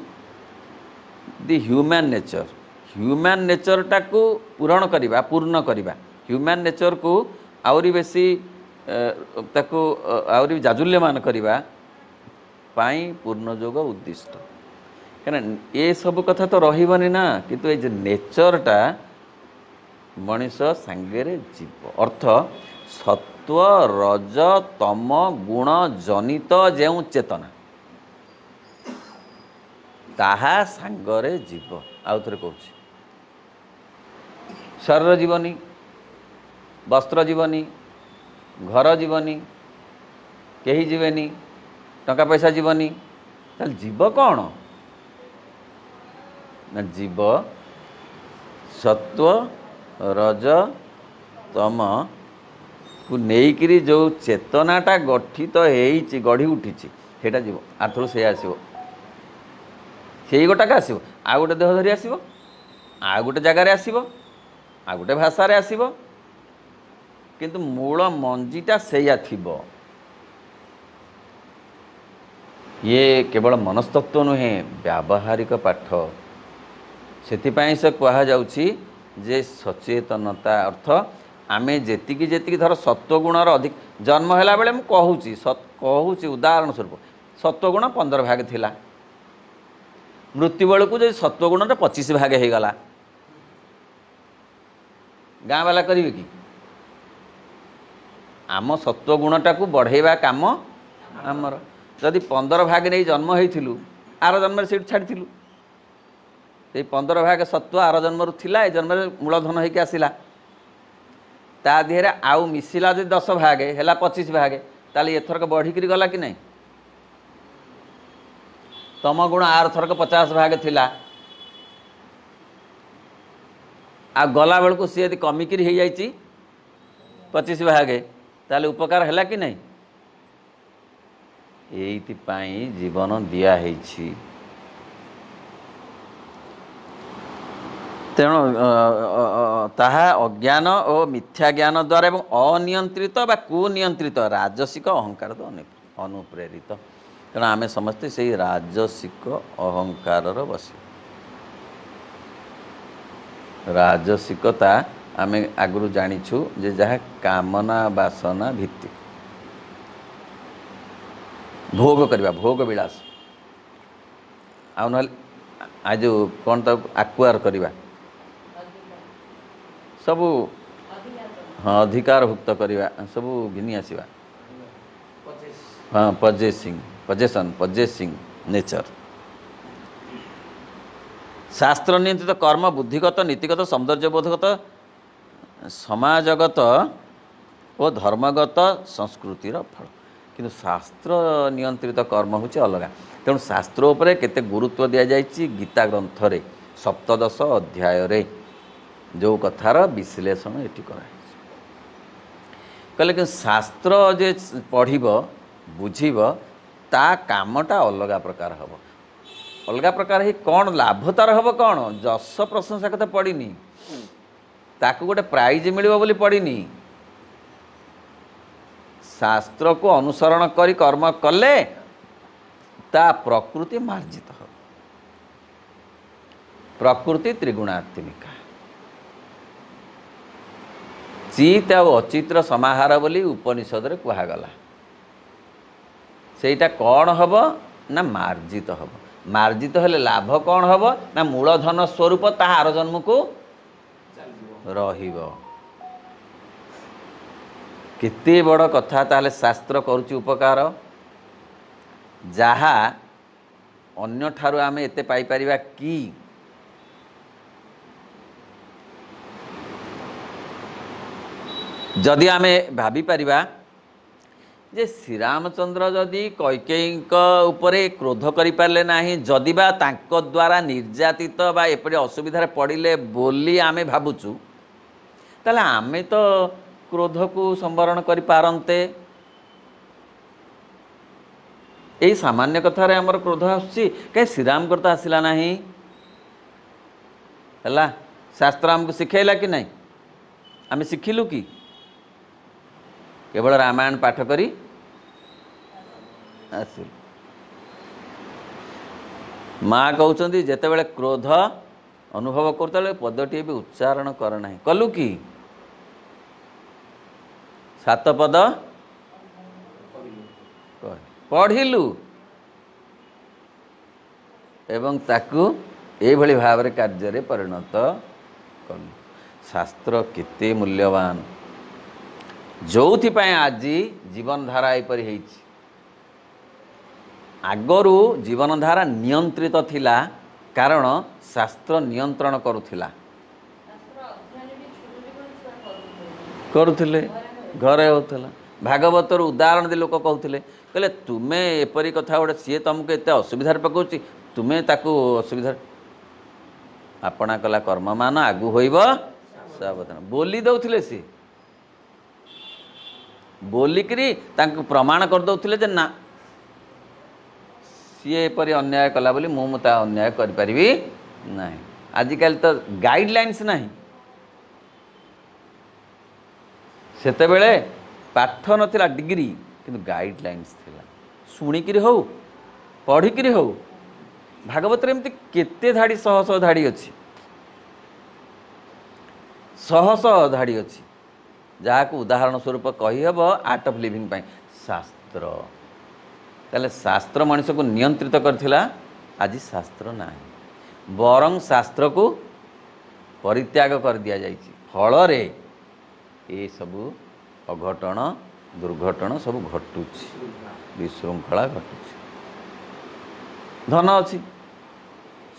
[SPEAKER 1] the human nature. Human ନେଚର୍ଟାକୁ ପୂରଣ କରିବା, ପୂର୍ଣ୍ଣ କରିବା, ହ୍ୟୁମାନ୍ ନେଚର୍କୁ ଆହୁରି ବେଶୀ ତାକୁ ଆହୁରି ଜାଜୁଲ୍ୟମାନ କରିବା ପାଇଁ ପୂର୍ଣ୍ଣ ଯୋଗ ଉଦ୍ଦିଷ୍ଟ। କାହିଁକିନା ଏସବୁ କଥା ତ ରହିବନି ନା, କିନ୍ତୁ ଏଇ ଯେ ନେଚର୍ଟା ମଣିଷ ସାଙ୍ଗରେ ଯିବ। ଅର୍ଥ ସତ୍ୱ ରଜ ତମ ଗୁଣ ଜନିତ ଯେଉଁ ଚେତନା ତାହା ସାଙ୍ଗରେ ଯିବ। ଆଉ ଥରେ କହୁଛି, ଶରୀର ଯିବନି, ବସ୍ତ୍ର ଯିବନି, ଘର ଯିବନି, କେହି ଯିବେନି, ଟଙ୍କା ପଇସା ଯିବନି, ତାହେଲେ ଯିବ କ'ଣ ନା ଯିବ ସତ୍ୱ ରଜ ତମକୁ ନେଇକିରି ଯେଉଁ ଚେତନାଟା ଗଠିତ ହେଇଛି, ଗଢ଼ି ଉଠିଛି, ସେଇଟା ଯିବ। ଆରଥର ସେଇଆ ଆସିବ, ସେଇ ଗୋଟାକ ଆସିବ, ଆଉ ଗୋଟେ ଦେହ ଧରି ଆସିବ, ଆଉ ଗୋଟେ ଜାଗାରେ ଆସିବ, ଆଉ ଗୋଟେ ଭାଷାରେ ଆସିବ, କିନ୍ତୁ ମୂଳ ମଞ୍ଜିଟା ସେଇଆ ଥିବ। ଇଏ କେବଳ ମନସ୍ତତ୍ଵ ନୁହେଁ, ବ୍ୟାବହାରିକ ପାଠ। ସେଥିପାଇଁ ସେ କୁହାଯାଉଛି ଯେ ସଚେତନତା ଅର୍ଥ ଆମେ ଯେତିକି ଯେତିକି ଧର ସତ୍ୱଗୁଣର ଅଧିକ ଜନ୍ମ ହେଲା ବେଳେ, ମୁଁ କହୁଛି କହୁଛି ଉଦାହରଣ ସ୍ୱରୂପ, ସତ୍ୱଗୁଣ ପନ୍ଦର ଭାଗ ଥିଲା, ମୃତ୍ୟୁ ବେଳକୁ ଯଦି ସତ୍ୱଗୁଣଟା ପଚିଶ ଭାଗ ହେଇଗଲା, ଗାଁ ବାଲା କରିବେ କି? ଆମ ସତ୍ୱଗୁଣଟାକୁ ବଢ଼େଇବା କାମ ଆମର। ଯଦି ପନ୍ଦର ଭାଗ ନେଇ ଜନ୍ମ ହେଇଥିଲୁ, ଆର ଜନ୍ମରେ ସେଇଠୁ ଛାଡ଼ିଥିଲୁ, ସେଇ ପନ୍ଦର ଭାଗ ସତ୍ୱ ଆର ଜନ୍ମରୁ ଥିଲା, ଏ ଜନ୍ମରେ ମୂଳଧନ ହେଇକି ଆସିଲା, ତା ଦେହରେ ଆଉ ମିଶିଲା ଯଦି ଦଶ ଭାଗ ହେଲା ପଚିଶ ଭାଗ, ତାହେଲେ ଏଥରକ ବଢ଼ିକିରି ଗଲା କି ନାହିଁ? ତମ ଗୁଣ ଆର ଥରକ ପଚାଶ ଭାଗ ଥିଲା, ଆଉ ଗଲାବେଳକୁ ସିଏ ଯଦି କମିକିରି ହେଇଯାଇଛି ପଚିଶ ଭାଗ, ତାହେଲେ ଉପକାର ହେଲା କି ନାହିଁ? ଏଇଥିପାଇଁ ଜୀବନ ଦିଆହେଇଛି। ତେଣୁ ତାହା ଅଜ୍ଞାନ ଓ ମିଥ୍ୟା ଜ୍ଞାନ ଦ୍ୱାରା ଏବଂ ଅନିୟନ୍ତ୍ରିତ ବା କୁନିୟନ୍ତ୍ରିତ ରାଜସିକ ଅହଙ୍କାର ଅନୁପ୍ରେରିତ। ତେଣୁ ଆମେ ସମସ୍ତେ ସେଇ ରାଜସିକ ଅହଙ୍କାରର ବଶୀ। ରାଜସିକତା ଆମେ ଆଗରୁ ଜାଣିଛୁ ଯେ ଯାହା କାମନା ବାସନା ଭିତ୍ତିକ, ଭୋଗ କରିବା, ଭୋଗ ବିଳାସ, ଆଉ ନହେଲେ ଆ ଯେଉଁ କ'ଣ ତାକୁ ଆକ୍ୱାର କରିବା, ସବୁ ହଁ ଅଧିକାରଭୁକ୍ତ କରିବା, ସବୁ ଘିନି ଆସିବା, ହଁ ପଜେସିଂ, ପଜେସନ୍, ପଜେସିଂ ନେଚର। ଶାସ୍ତ୍ର ନିୟନ୍ତ୍ରିତ କର୍ମ ବୁଦ୍ଧିଗତ, ନୀତିଗତ, ସୌନ୍ଦର୍ଯ୍ୟବୋଧଗତ, ସମାଜଗତ ଓ ଧର୍ମଗତ ସଂସ୍କୃତିର ଫଳ। କିନ୍ତୁ ଶାସ୍ତ୍ର ନିୟନ୍ତ୍ରିତ କର୍ମ ହେଉଛି ଅଲଗା। ତେଣୁ ଶାସ୍ତ୍ର ଉପରେ କେତେ ଗୁରୁତ୍ୱ ଦିଆଯାଇଛି ଗୀତା ଗ୍ରନ୍ଥରେ ସପ୍ତଦଶ ଅଧ୍ୟାୟରେ, ଯେଉଁ କଥାର ବିଶ୍ଳେଷଣ ଏଠି କରାହେଇଛି। କହିଲେ କିନ୍ତୁ ଶାସ୍ତ୍ର ଯେ ପଢ଼ିବ ବୁଝିବ, ତା କାମଟା ଅଲଗା ପ୍ରକାର ହେବ। ଅଲଗା ପ୍ରକାର ହେଇ କ'ଣ ଲାଭ ତାର ହେବ? କ'ଣ ଯଶ ପ୍ରଶଂସା କଥା ପଡ଼ିନି, ତାକୁ ଗୋଟେ ପ୍ରାଇଜ୍ ମିଳିବ ବୋଲି ପଡ଼ିନି। ଶାସ୍ତ୍ରକୁ ଅନୁସରଣ କରି କର୍ମ କଲେ ତା ପ୍ରକୃତି ମାର୍ଜିତ ହେବ। ପ୍ରକୃତି ତ୍ରିଗୁଣାତ୍ମିକା, ଚିତ୍ ଆଉ ଅଚିତ୍ର ସମାହାର ବୋଲି ଉପନିଷଦରେ କୁହାଗଲା। ସେଇଟା କ'ଣ ହେବ ନା ମାର୍ଜିତ ହେବ। ମାର୍ଜିତ ହେଲେ ଲାଭ କ'ଣ ହେବ ନା ମୂଳଧନ ସ୍ୱରୂପ ତାହା ଆର ଜନ୍ମକୁ ରହିବ। କେତେ ବଡ଼ କଥା। ତାହେଲେ ଶାସ୍ତ୍ର କରୁଛି ଉପକାର, ଯାହା ଅନ୍ୟଠାରୁ ଆମେ ଏତେ ପାଇପାରିବା କି? ଯଦି ଆମେ ଭାବିପାରିବା ଯେ ଶ୍ରୀରାମଚନ୍ଦ୍ର ଯଦି କୈକେୟୀଙ୍କ ଉପରେ କ୍ରୋଧ କରିପାରିଲେ ନାହିଁ, ଯଦି ବା ତାଙ୍କ ଦ୍ୱାରା ନିର୍ଯାତିତ ବା ଏପରି ଅସୁବିଧାରେ ପଡ଼ିଲେ ବୋଲି ଆମେ ଭାବୁଛୁ, ତାହେଲେ ଆମେ ତ କ୍ରୋଧକୁ ସମ୍ବରଣ କରିପାରନ୍ତେ। ଏଇ ସାମାନ୍ୟ କଥାରେ ଆମର କ୍ରୋଧ ଆସୁଛି, କାହିଁ ଶ୍ରୀରାମଙ୍କର ତ ଆସିଲା ନାହିଁ? ହେଲା, ଶାସ୍ତ୍ର ଆମକୁ ଶିଖେଇଲା କି ନାହିଁ? ଆମେ ଶିଖିଲୁ କି? କେବଳ ରାମାୟଣ ପାଠ କରି ଆସିଲୁ। ମା କହୁଛନ୍ତି ଯେତେବେଳେ କ୍ରୋଧ ଅନୁଭବ କରୁଥିଲେ ପଦଟିଏ ବି ଉଚ୍ଚାରଣ କର ନାହିଁ। କଲୁ କି? ସାତ ପଦ ପଢ଼ିଲୁ ଏବଂ ତାକୁ ଏଇଭଳି ଭାବରେ କାର୍ଯ୍ୟରେ ପରିଣତ କଲୁ। ଶାସ୍ତ୍ର କେତେ ମୂଲ୍ୟବାନ, ଯେଉଁଥିପାଇଁ ଆଜି ଜୀବନଧାରା ଏପରି ହେଇଛି। ଆଗରୁ ଜୀବନଧାରା ନିୟନ୍ତ୍ରିତ ଥିଲା, କାରଣ ଶାସ୍ତ୍ର ନିୟନ୍ତ୍ରଣ କରୁଥିଲା, କରୁଥିଲେ, ଘରେ ହେଉଥିଲା। ଭାଗବତରୁ ଉଦାହରଣ ଦେଇ ଲୋକ କହୁଥିଲେ, କହିଲେ ତୁମେ ଏପରି କଥା ଗୋଟେ, ସିଏ ତୁମକୁ ଏତେ ଅସୁବିଧାରେ ପକାଉଛି, ତୁମେ ତାକୁ ଅସୁବିଧାରେ ଆପଣା କଲା କର୍ମମାନ ଆଗୁ ହୋଇବ ସାବଧାନ ବୋଲି ଦେଉଥିଲେ। ସିଏ ବୋଲିକିରି ତାଙ୍କୁ ପ୍ରମାଣ କରିଦେଉଥିଲେ ଯେ ନା, ସିଏ ଏପରି ଅନ୍ୟାୟ କଲା ବୋଲି ମୁଁ ମୁଁ ତା ଅନ୍ୟାୟ କରିପାରିବି ନାହିଁ। ଆଜିକାଲି ତ ଗାଇଡ଼ଲାଇନ୍ସ ନାହିଁ। ସେତେବେଳେ ପାଠ ନଥିଲା ଡିଗ୍ରୀ, କିନ୍ତୁ ଗାଇଡ଼ଲାଇନ୍ସ ଥିଲା। ଶୁଣିକିରି ହଉ, ପଢ଼ିକିରି ହଉ, ଭାଗବତରେ ଏମିତି କେତେ ଧାଡ଼ି, ଶହ ଶହ ଧାଡ଼ି ଅଛି, ଶହ ଶହ ଧାଡ଼ି ଅଛି, ଯାହାକୁ ଉଦାହରଣ ସ୍ୱରୂପ କହିହେବ ଆର୍ଟ ଅଫ୍ ଲିଭିଂ ପାଇଁ ଶାସ୍ତ୍ର। ତାହେଲେ ଶାସ୍ତ୍ର ମଣିଷକୁ ନିୟନ୍ତ୍ରିତ କରିଥିଲା, ଆଜି ଶାସ୍ତ୍ର ନାହିଁ, ବରଂ ଶାସ୍ତ୍ରକୁ ପରିତ୍ୟାଗ କରିଦିଆଯାଇଛି। ଫଳରେ ଏସବୁ ଅଘଟଣ ଦୁର୍ଘଟଣ ସବୁ ଘଟୁଛି, ବିଶୃଙ୍ଖଳା ଘଟୁଛି। ଧନ ଅଛି,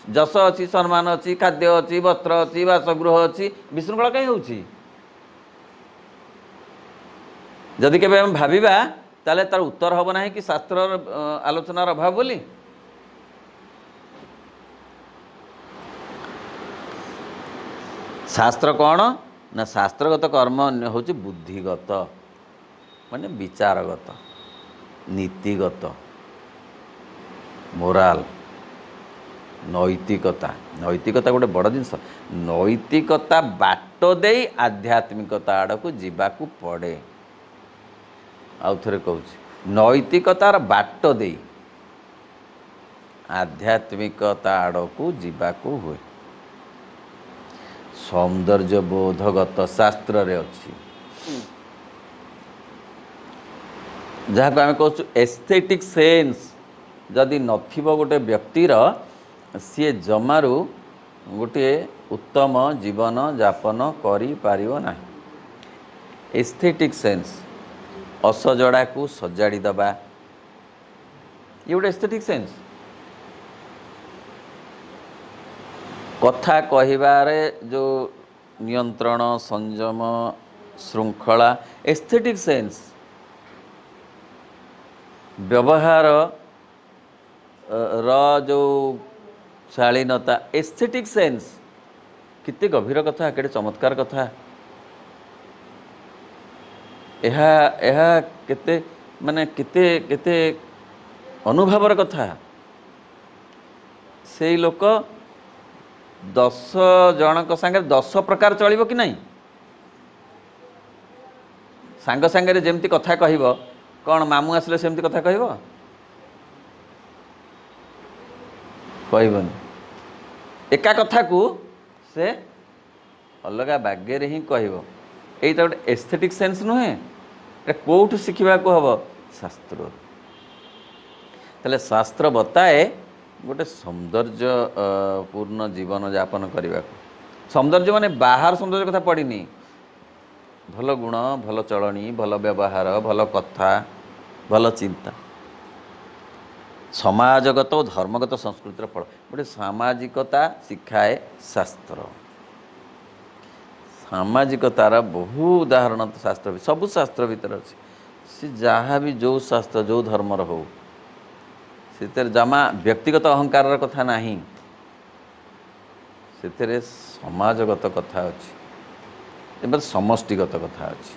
[SPEAKER 1] ଯଶ ଅଛି, ସମ୍ମାନ ଅଛି, ଖାଦ୍ୟ ଅଛି, ବସ୍ତ୍ର ଅଛି, ବାସଗୃହ ଅଛି, ବିଶୃଙ୍ଖଳା କାହିଁ ହେଉଛି? ଯଦି କେବେ ଆମେ ଭାବିବା ତାହେଲେ ତାର ଉତ୍ତର ହେବ ନାହିଁ କି ଶାସ୍ତ୍ରର ଆଲୋଚନାର ଅଭାବ ବୋଲି। ଶାସ୍ତ୍ର କ'ଣ ନା ଶାସ୍ତ୍ରଗତ କର୍ମ ହେଉଛି ବୁଦ୍ଧିଗତ, ମାନେ ବିଚାରଗତ, ନୀତିଗତ, ମୋରାଲ, ନୈତିକତା। ନୈତିକତା ଗୋଟେ ବଡ଼ ଜିନିଷ। ନୈତିକତା ବାଟ ଦେଇ ଆଧ୍ୟାତ୍ମିକତା ଆଡ଼କୁ ଯିବାକୁ ପଡ଼େ। ଆଉ ଥରେ କହୁଛି, ନୈତିକତାର ବାଟ ଦେଇ ଆଧ୍ୟାତ୍ମିକତା ଆଡ଼କୁ ଯିବାକୁ ହୁଏ। ସୌନ୍ଦର୍ଯ୍ୟ ବୋଧଗତ ଶାସ୍ତ୍ରରେ ଅଛି, ଯାହାକୁ ଆମେ କହୁଛୁ ଏସ୍ଥେଟିକ୍ ସେନ୍ସ। ଯଦି ନଥିବ ଗୋଟେ ବ୍ୟକ୍ତିର, ସିଏ ଜମାରୁ ଗୋଟିଏ ଉତ୍ତମ ଜୀବନ ଯାପନ କରିପାରିବ ନାହିଁ। ଏସ୍ଥେଟିକ୍ ସେନ୍ସ, ଅସଜଡ଼ାକୁ ସଜାଡ଼ି ଦେବା, ଇଏ ଗୋଟେ ଏସ୍ଥେଟିକ୍ ସେନ୍ସ। କଥା କହିବାରେ ଯେଉଁ ନିୟନ୍ତ୍ରଣ, ସଂଯମ, ଶୃଙ୍ଖଳା, ଏସ୍ଥେଟିକ୍ ସେନ୍ସ। ବ୍ୟବହାର ର ଯେଉଁ ଶାଳୀନତା, ଏସ୍ଥେଟିକ୍ ସେନ୍ସ। କେତେ ଗଭୀର କଥା, କେତେ ଚମତ୍କାର କଥା ଏହା। ଏହା କେତେ ମାନେ କେତେ କେତେ ଅନୁଭବର କଥା। ସେଇ ଲୋକ ଦଶ ଜଣଙ୍କ ସାଙ୍ଗରେ ଦଶ ପ୍ରକାର ଚଳିବ କି ନାହିଁ? ସାଙ୍ଗ ସାଙ୍ଗରେ ଯେମିତି କଥା କହିବ, କ'ଣ ମାମୁଁ ଆସିଲେ ସେମିତି କଥା କହିବ? କହିବନି। ଏକା କଥାକୁ ସେ ଅଲଗା ବାଗ୍ୟରେ ହିଁ କହିବ। ଏଇଟା ଗୋଟେ ଏସ୍ଥେଟିକ୍ ସେନ୍ସ ନୁହେଁ? ଏଇଟା କେଉଁଠୁ ଶିଖିବାକୁ ହେବ? ଶାସ୍ତ୍ରରୁ। ତାହେଲେ ଶାସ୍ତ୍ର ବତାଏ ଗୋଟେ ସୌନ୍ଦର୍ଯ୍ୟ ପୂର୍ଣ୍ଣ ଜୀବନ ଯାପନ କରିବାକୁ। ସୌନ୍ଦର୍ଯ୍ୟ ମାନେ ବାହାର ସୌନ୍ଦର୍ଯ୍ୟ କଥା ପଡ଼ିନି, ଭଲ ଗୁଣ, ଭଲ ଚଳଣି, ଭଲ ବ୍ୟବହାର, ଭଲ କଥା, ଭଲ ଚିନ୍ତା, ସମାଜଗତ ଓ ଧର୍ମଗତ ସଂସ୍କୃତିର ଫଳ। ଗୋଟେ ସାମାଜିକତା ଶିଖାଏ ଶାସ୍ତ୍ର। ସାମାଜିକତାର ବହୁ ଉଦାହରଣ ତ ଶାସ୍ତ୍ର, ସବୁ ଶାସ୍ତ୍ର ଭିତରେ ଅଛି। ସେ ଯାହା ବି ଯେଉଁ ଶାସ୍ତ୍ର ଯେଉଁ ଧର୍ମର ହଉ, ସେଥିରେ ଜମା ବ୍ୟକ୍ତିଗତ ଅହଙ୍କାରର କଥା ନାହିଁ, ସେଥିରେ ସମାଜଗତ କଥା ଅଛି ଏବଂ ସମଷ୍ଟିଗତ କଥା ଅଛି।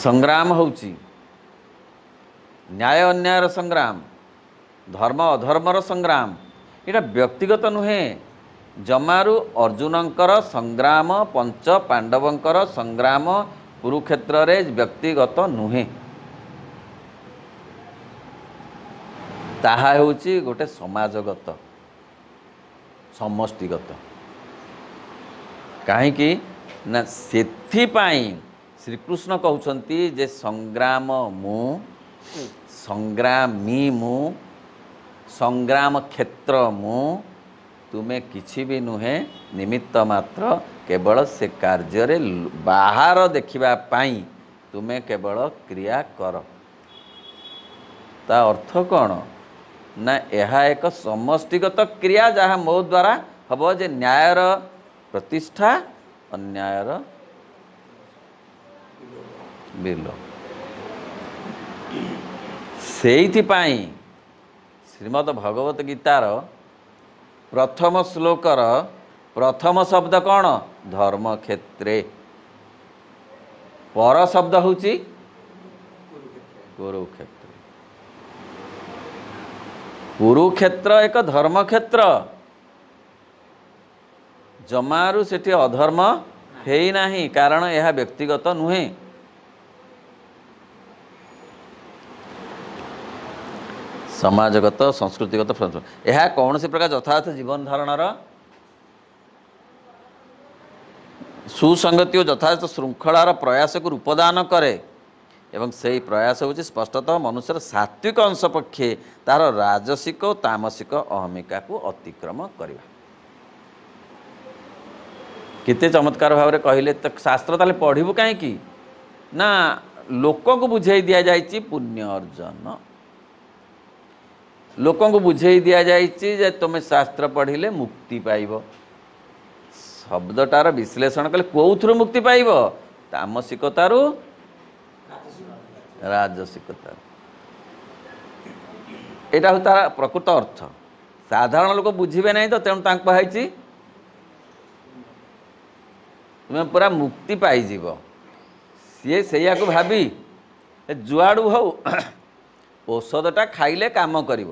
[SPEAKER 1] ସଂଗ୍ରାମ ହେଉଛି ନ୍ୟାୟ ଅନ୍ୟାୟର ସଂଗ୍ରାମ, ଧର୍ମ ଅଧର୍ମର ସଂଗ୍ରାମ। ଏଇଟା ବ୍ୟକ୍ତିଗତ ନୁହେଁ। ଜମାରୁ ଅର୍ଜୁନଙ୍କର ସଂଗ୍ରାମ, ପଞ୍ଚ ପାଣ୍ଡବଙ୍କର ସଂଗ୍ରାମ କୁରୁକ୍ଷେତ୍ରରେ ବ୍ୟକ୍ତିଗତ ନୁହେଁ। ତାହା ହେଉଛି ଗୋଟେ ସମାଜଗତ, ସମଷ୍ଟିଗତ। କାହିଁକି ନା ସେଥିପାଇଁ ଶ୍ରୀକୃଷ୍ଣ କହୁଛନ୍ତି ଯେ ସଂଗ୍ରାମ ମୁଁ, ସଂଗ୍ରାମୀ ମୁଁ, ସଂଗ୍ରାମ କ୍ଷେତ୍ର ମୁଁ, ତୁମେ କିଛି ବି ନୁହେଁ, ନିମିତ୍ତ ମାତ୍ର। କେବଳ ସେ କାର୍ଯ୍ୟରେ ବାହାର ଦେଖିବା ପାଇଁ ତୁମେ କେବଳ କ୍ରିୟା କର। ତା ଅର୍ଥ କ'ଣ ନା ଏହା ଏକ ସମଷ୍ଟିଗତ କ୍ରିୟା ଯାହା ମୋ ଦ୍ୱାରା ହେବ, ଯେ ନ୍ୟାୟର ପ୍ରତିଷ୍ଠା, ଅନ୍ୟାୟର ବିଲୋପ। ସେଇଥିପାଇଁ ଶ୍ରୀମଦ ଭଗବତ ଗୀତାର ପ୍ରଥମ ଶ୍ଲୋକର ପ୍ରଥମ ଶବ୍ଦ କ'ଣ? ଧର୍ମକ୍ଷେତ୍ରେ। ପର ଶବ୍ଦ ହେଉଛି କୁରୁକ୍ଷେତ୍ର। କୁରୁକ୍ଷେତ୍ର ଏକ ଧର୍ମକ୍ଷେତ୍ର, ଜମାରୁ ସେଠି ଅଧର୍ମ ହେଇନାହିଁ, କାରଣ ଏହା ବ୍ୟକ୍ତିଗତ ନୁହେଁ। ସମାଜଗତ, ସଂସ୍କୃତିଗତ, ଏହା କୌଣସି ପ୍ରକାର ଯଥାର୍ଥ ଜୀବନ ଧାରଣର ସୁସଙ୍ଗତି ଓ ଯଥାର୍ଥ ଶୃଙ୍ଖଳାର ପ୍ରୟାସକୁ ରୂପଦାନ କରେ ଏବଂ ସେଇ ପ୍ରୟାସ ହେଉଛି ସ୍ପଷ୍ଟତଃ ମନୁଷ୍ୟର ସାତ୍ವಿକ ଅଂଶ ପକ୍ଷେ ତାର ରାଜସିକ ଓ ତାମସିକ ଅହମିକାକୁ ଅତିକ୍ରମ କରିବା। କେତେ ଚମତ୍କାର ଭାବରେ କହିଲେ। ତ ଶାସ୍ତ୍ର ତାହେଲେ ପଢ଼ିବୁ କାହିଁକି? ନା ଲୋକଙ୍କୁ ବୁଝେଇ ଦିଆଯାଇଛି ପୁଣ୍ୟ ଅର୍ଜନ, ଲୋକଙ୍କୁ ବୁଝେଇ ଦିଆଯାଇଛି ଯେ ତୁମେ ଶାସ୍ତ୍ର ପଢ଼ିଲେ ମୁକ୍ତି ପାଇବ। ଶବ୍ଦଟାର ବିଶ୍ଳେଷଣ କଲେ କେଉଁଥିରୁ ମୁକ୍ତି ପାଇବ? ତାମସିକତାରୁ, ରାଜସିକତାରୁ। ଏଇଟା ହେଉଛି ତାର ପ୍ରକୃତ ଅର୍ଥ। ସାଧାରଣ ଲୋକ ବୁଝିବେ ନାହିଁ ତ, ତେଣୁ ତାଙ୍କୁ କୁହାହେଇଛି ତୁମେ ପୁରା ମୁକ୍ତି ପାଇଯିବ। ସିଏ ସେଇଆକୁ ଭାବି ଯୁଆଡ଼ୁ ହଉ ଔଷଧଟା ଖାଇଲେ କାମ କରିବ,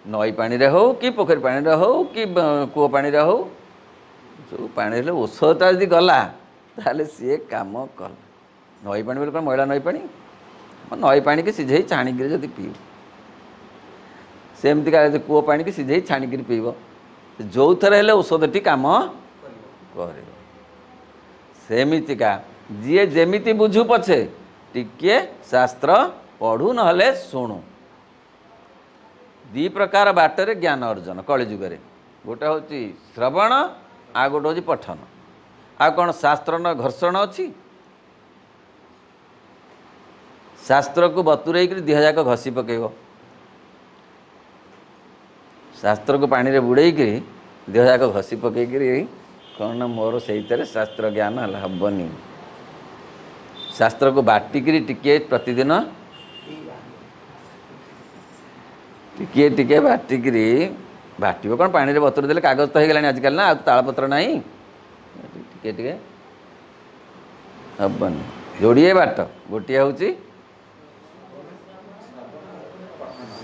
[SPEAKER 1] ନଈ ପାଣିରେ ହଉ କି ପୋଖରୀ ପାଣିରେ ହଉ କି କୂଅ ପାଣିରେ ହଉ, ଯେଉଁ ପାଣିରେ ହେଲେ ଔଷଧଟା ଯଦି ଗଲା ତାହେଲେ ସିଏ କାମ କଲା। ନଈ ପାଣି ବୋଲି କ'ଣ ମଇଳା ନଈ ପାଣି? ନଈ ପାଣିକି ସିଝେଇ ଛାଣିକିରି ଯଦି ପିଇବ, ସେମିତିକା ଯଦି କୂଅ ପାଣିକି ସିଝେଇ ଛାଣିକିରି ପିଇବ, ଯେଉଁଥିରେ ହେଲେ ଔଷଧଟି କାମ କରିବ। ସେମିତିକା ଯିଏ ଯେମିତି ବୁଝୁ ପଛେ ଟିକିଏ ଶାସ୍ତ୍ର ପଢ଼ୁ ନହେଲେ ଶୁଣୁ। ଦୁଇ ପ୍ରକାର ବାଟରେ ଜ୍ଞାନ ଅର୍ଜନ କଳିଯୁଗରେ, ଗୋଟେ ହେଉଛି ଶ୍ରବଣ, ଆଉ ଗୋଟେ ହେଉଛି ପଠନ। ଆଉ କ'ଣ ଶାସ୍ତ୍ର ନ ଘର୍ଷଣ ଅଛି? ଶାସ୍ତ୍ରକୁ ବତୁରେଇକିରି ଦେହ ଯାକ ଘଷି ପକେଇବ, ଶାସ୍ତ୍ରକୁ ପାଣିରେ ବୁଡ଼େଇକିରି ଦେହ ଯାକ ଘଷି ପକେଇକିରି କ'ଣ ନା ମୋର ସେଇଥିରେ ଶାସ୍ତ୍ର ଜ୍ଞାନ ହେଲା, ହେବନି। ଶାସ୍ତ୍ରକୁ ବାଟିକିରି ଟିକିଏ ପ୍ରତିଦିନ ଟିକିଏ ଟିକିଏ ବାଟିକିରି, ବାଟିବ କ'ଣ ପାଣିରେ ବତୁରେଇ ଦେଲେ କାଗଜ ତ ହେଇଗଲାଣି ଆଜିକାଲି ନା, ଆଉ ତାଳପତ୍ର ନାହିଁ, ଟିକେ ଟିକେ ହେବନି। ଯୋଡ଼ିଏ ବାଟ, ଗୋଟିଏ ହେଉଛି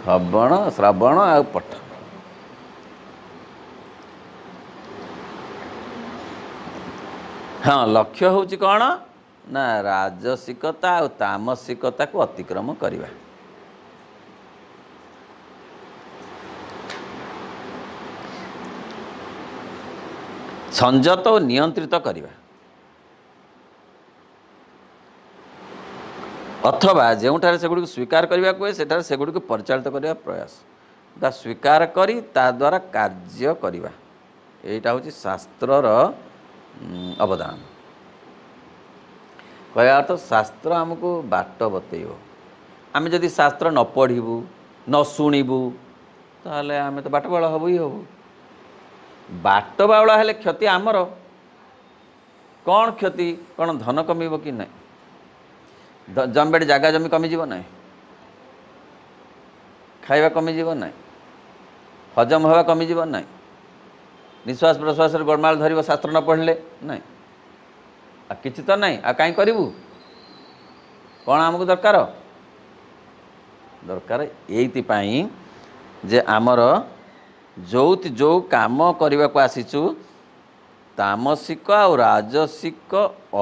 [SPEAKER 1] ଶ୍ରବଣ ଶ୍ରବଣ ଆଉ ପଠ। ହଁ, ଲକ୍ଷ୍ୟ ହେଉଛି କ'ଣ ନା ରାଜସିକତା ଆଉ ତାମସିକତାକୁ ଅତିକ୍ରମ କରିବା। ସଂଯତ ଓ ନିୟନ୍ତ୍ରିତ କରିବା, ଅଥବା ଯେଉଁଠାରେ ସେଗୁଡ଼ିକୁ ସ୍ୱୀକାର କରିବାକୁ ହୁଏ ସେଠାରେ ସେଗୁଡ଼ିକୁ ପରିଚାଳିତ କରିବା ପ୍ରୟାସ, ବା ସ୍ୱୀକାର କରି ତା ଦ୍ୱାରା କାର୍ଯ୍ୟ କରିବା, ଏଇଟା ହେଉଛି ଶାସ୍ତ୍ରର ଅବଦାନ। କହିବା ଅର୍ଥ ଶାସ୍ତ୍ର ଆମକୁ ବାଟ ବତେଇବ। ଆମେ ଯଦି ଶାସ୍ତ୍ର ନ ପଢ଼ିବୁ, ନ ଶୁଣିବୁ, ତାହେଲେ ଆମେ ତ ବାଟ ବାଉଳା ହବୁ ହିଁ ହବୁ। ବାଟ ବାଉଳା ହେଲେ କ୍ଷତି ଆମର। କ'ଣ କ୍ଷତି? କ'ଣ ଧନ କମିବ କି ନାହିଁ? ଜମିବାଡ଼ି ଜାଗା ଜମି କମିଯିବ ନାହିଁ? ଖାଇବା କମିଯିବ ନାହିଁ? ହଜମ ହେବା କମିଯିବ ନାହିଁ? ନିଶ୍ୱାସ ପ୍ରଶ୍ୱାସରେ ଗୋଳମାଳ ଧରିବ ଶାସ୍ତ୍ର ନ ପଢ଼ିଲେ ନାହିଁ? ଆଉ କିଛି ତ ନାହିଁ, ଆଉ କାହିଁ କରିବୁ? କ'ଣ ଆମକୁ ଦରକାର? ଦରକାର ଏଇଥିପାଇଁ ଯେ ଆମର ଯେଉଁ ଯେଉଁ କାମ କରିବାକୁ ଆସିଛୁ, ତାମସିକ ଆଉ ରାଜସିକ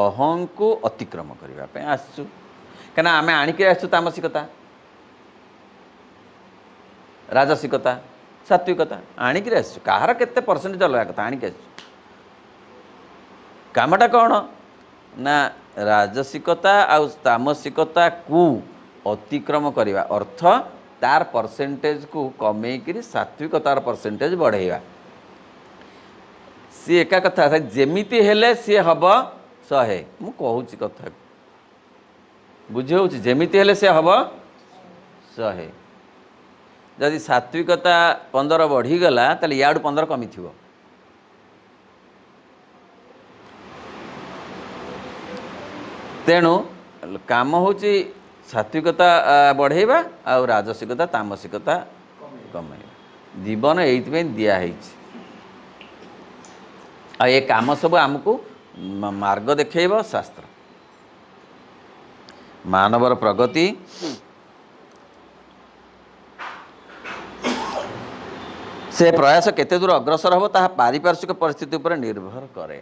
[SPEAKER 1] ଅହଂକୁ ଅତିକ୍ରମ କରିବା ପାଇଁ ଆସିଛୁ। କାହିଁକିନା ଆମେ ଆଣିକି ଆସିଛୁ ତାମସିକତା, ରାଜସିକତା, ସାତ୍ವಿକତା ଆଣିକିରି ଆସିଛୁ। କାହାର କେତେ ପରସେଣ୍ଟେଜ ଅଲଗା କଥା, ଆଣିକି ଆସିଛୁ। କାମଟା କ'ଣ ନା ରାଜସିକତା ଆଉ ତାମସିକତାକୁ ଅତିକ୍ରମ କରିବା, ଅର୍ଥ ତାର ପରସେଣ୍ଟେଜକୁ କମେଇକିରି ସାତ୍ವಿକତାର ପରସେଣ୍ଟେଜ ବଢ଼େଇବା। ସିଏ ଏକା କଥା, ଯେମିତି ହେଲେ ସିଏ ହେବ ଶହେ। ମୁଁ କହୁଛି କଥା ବୁଝି ହେଉଛି? ଯେମିତି ହେଲେ ସେ ହେବ ଶହେ। ଯଦି ସାତ୍ବିକତା ପନ୍ଦର ବଢ଼ିଗଲା ତାହେଲେ ଇଆଡ଼ୁ ପନ୍ଦର କମିଥିବ। ତେଣୁ କାମ ହେଉଛି ସାତ୍ବିକତା ବଢ଼େଇବା ଆଉ ରାଜସିକତା ତାମସିକତା କମେଇବା। ଜୀବନ ଏଇଥିପାଇଁ ଦିଆହେଇଛି। ଆଉ ଏ କାମ ସବୁ ଆମକୁ ମାର୍ଗ ଦେଖେଇବ ଶାସ୍ତ୍ର। ମାନବର ପ୍ରଗତି ସେ ପ୍ରୟାସ କେତେ ଦୂର ଅଗ୍ରସର ହେବ ତାହା ପାରିପାର୍ଶ୍ୱିକ ପରିସ୍ଥିତି ଉପରେ ନିର୍ଭର କରେ।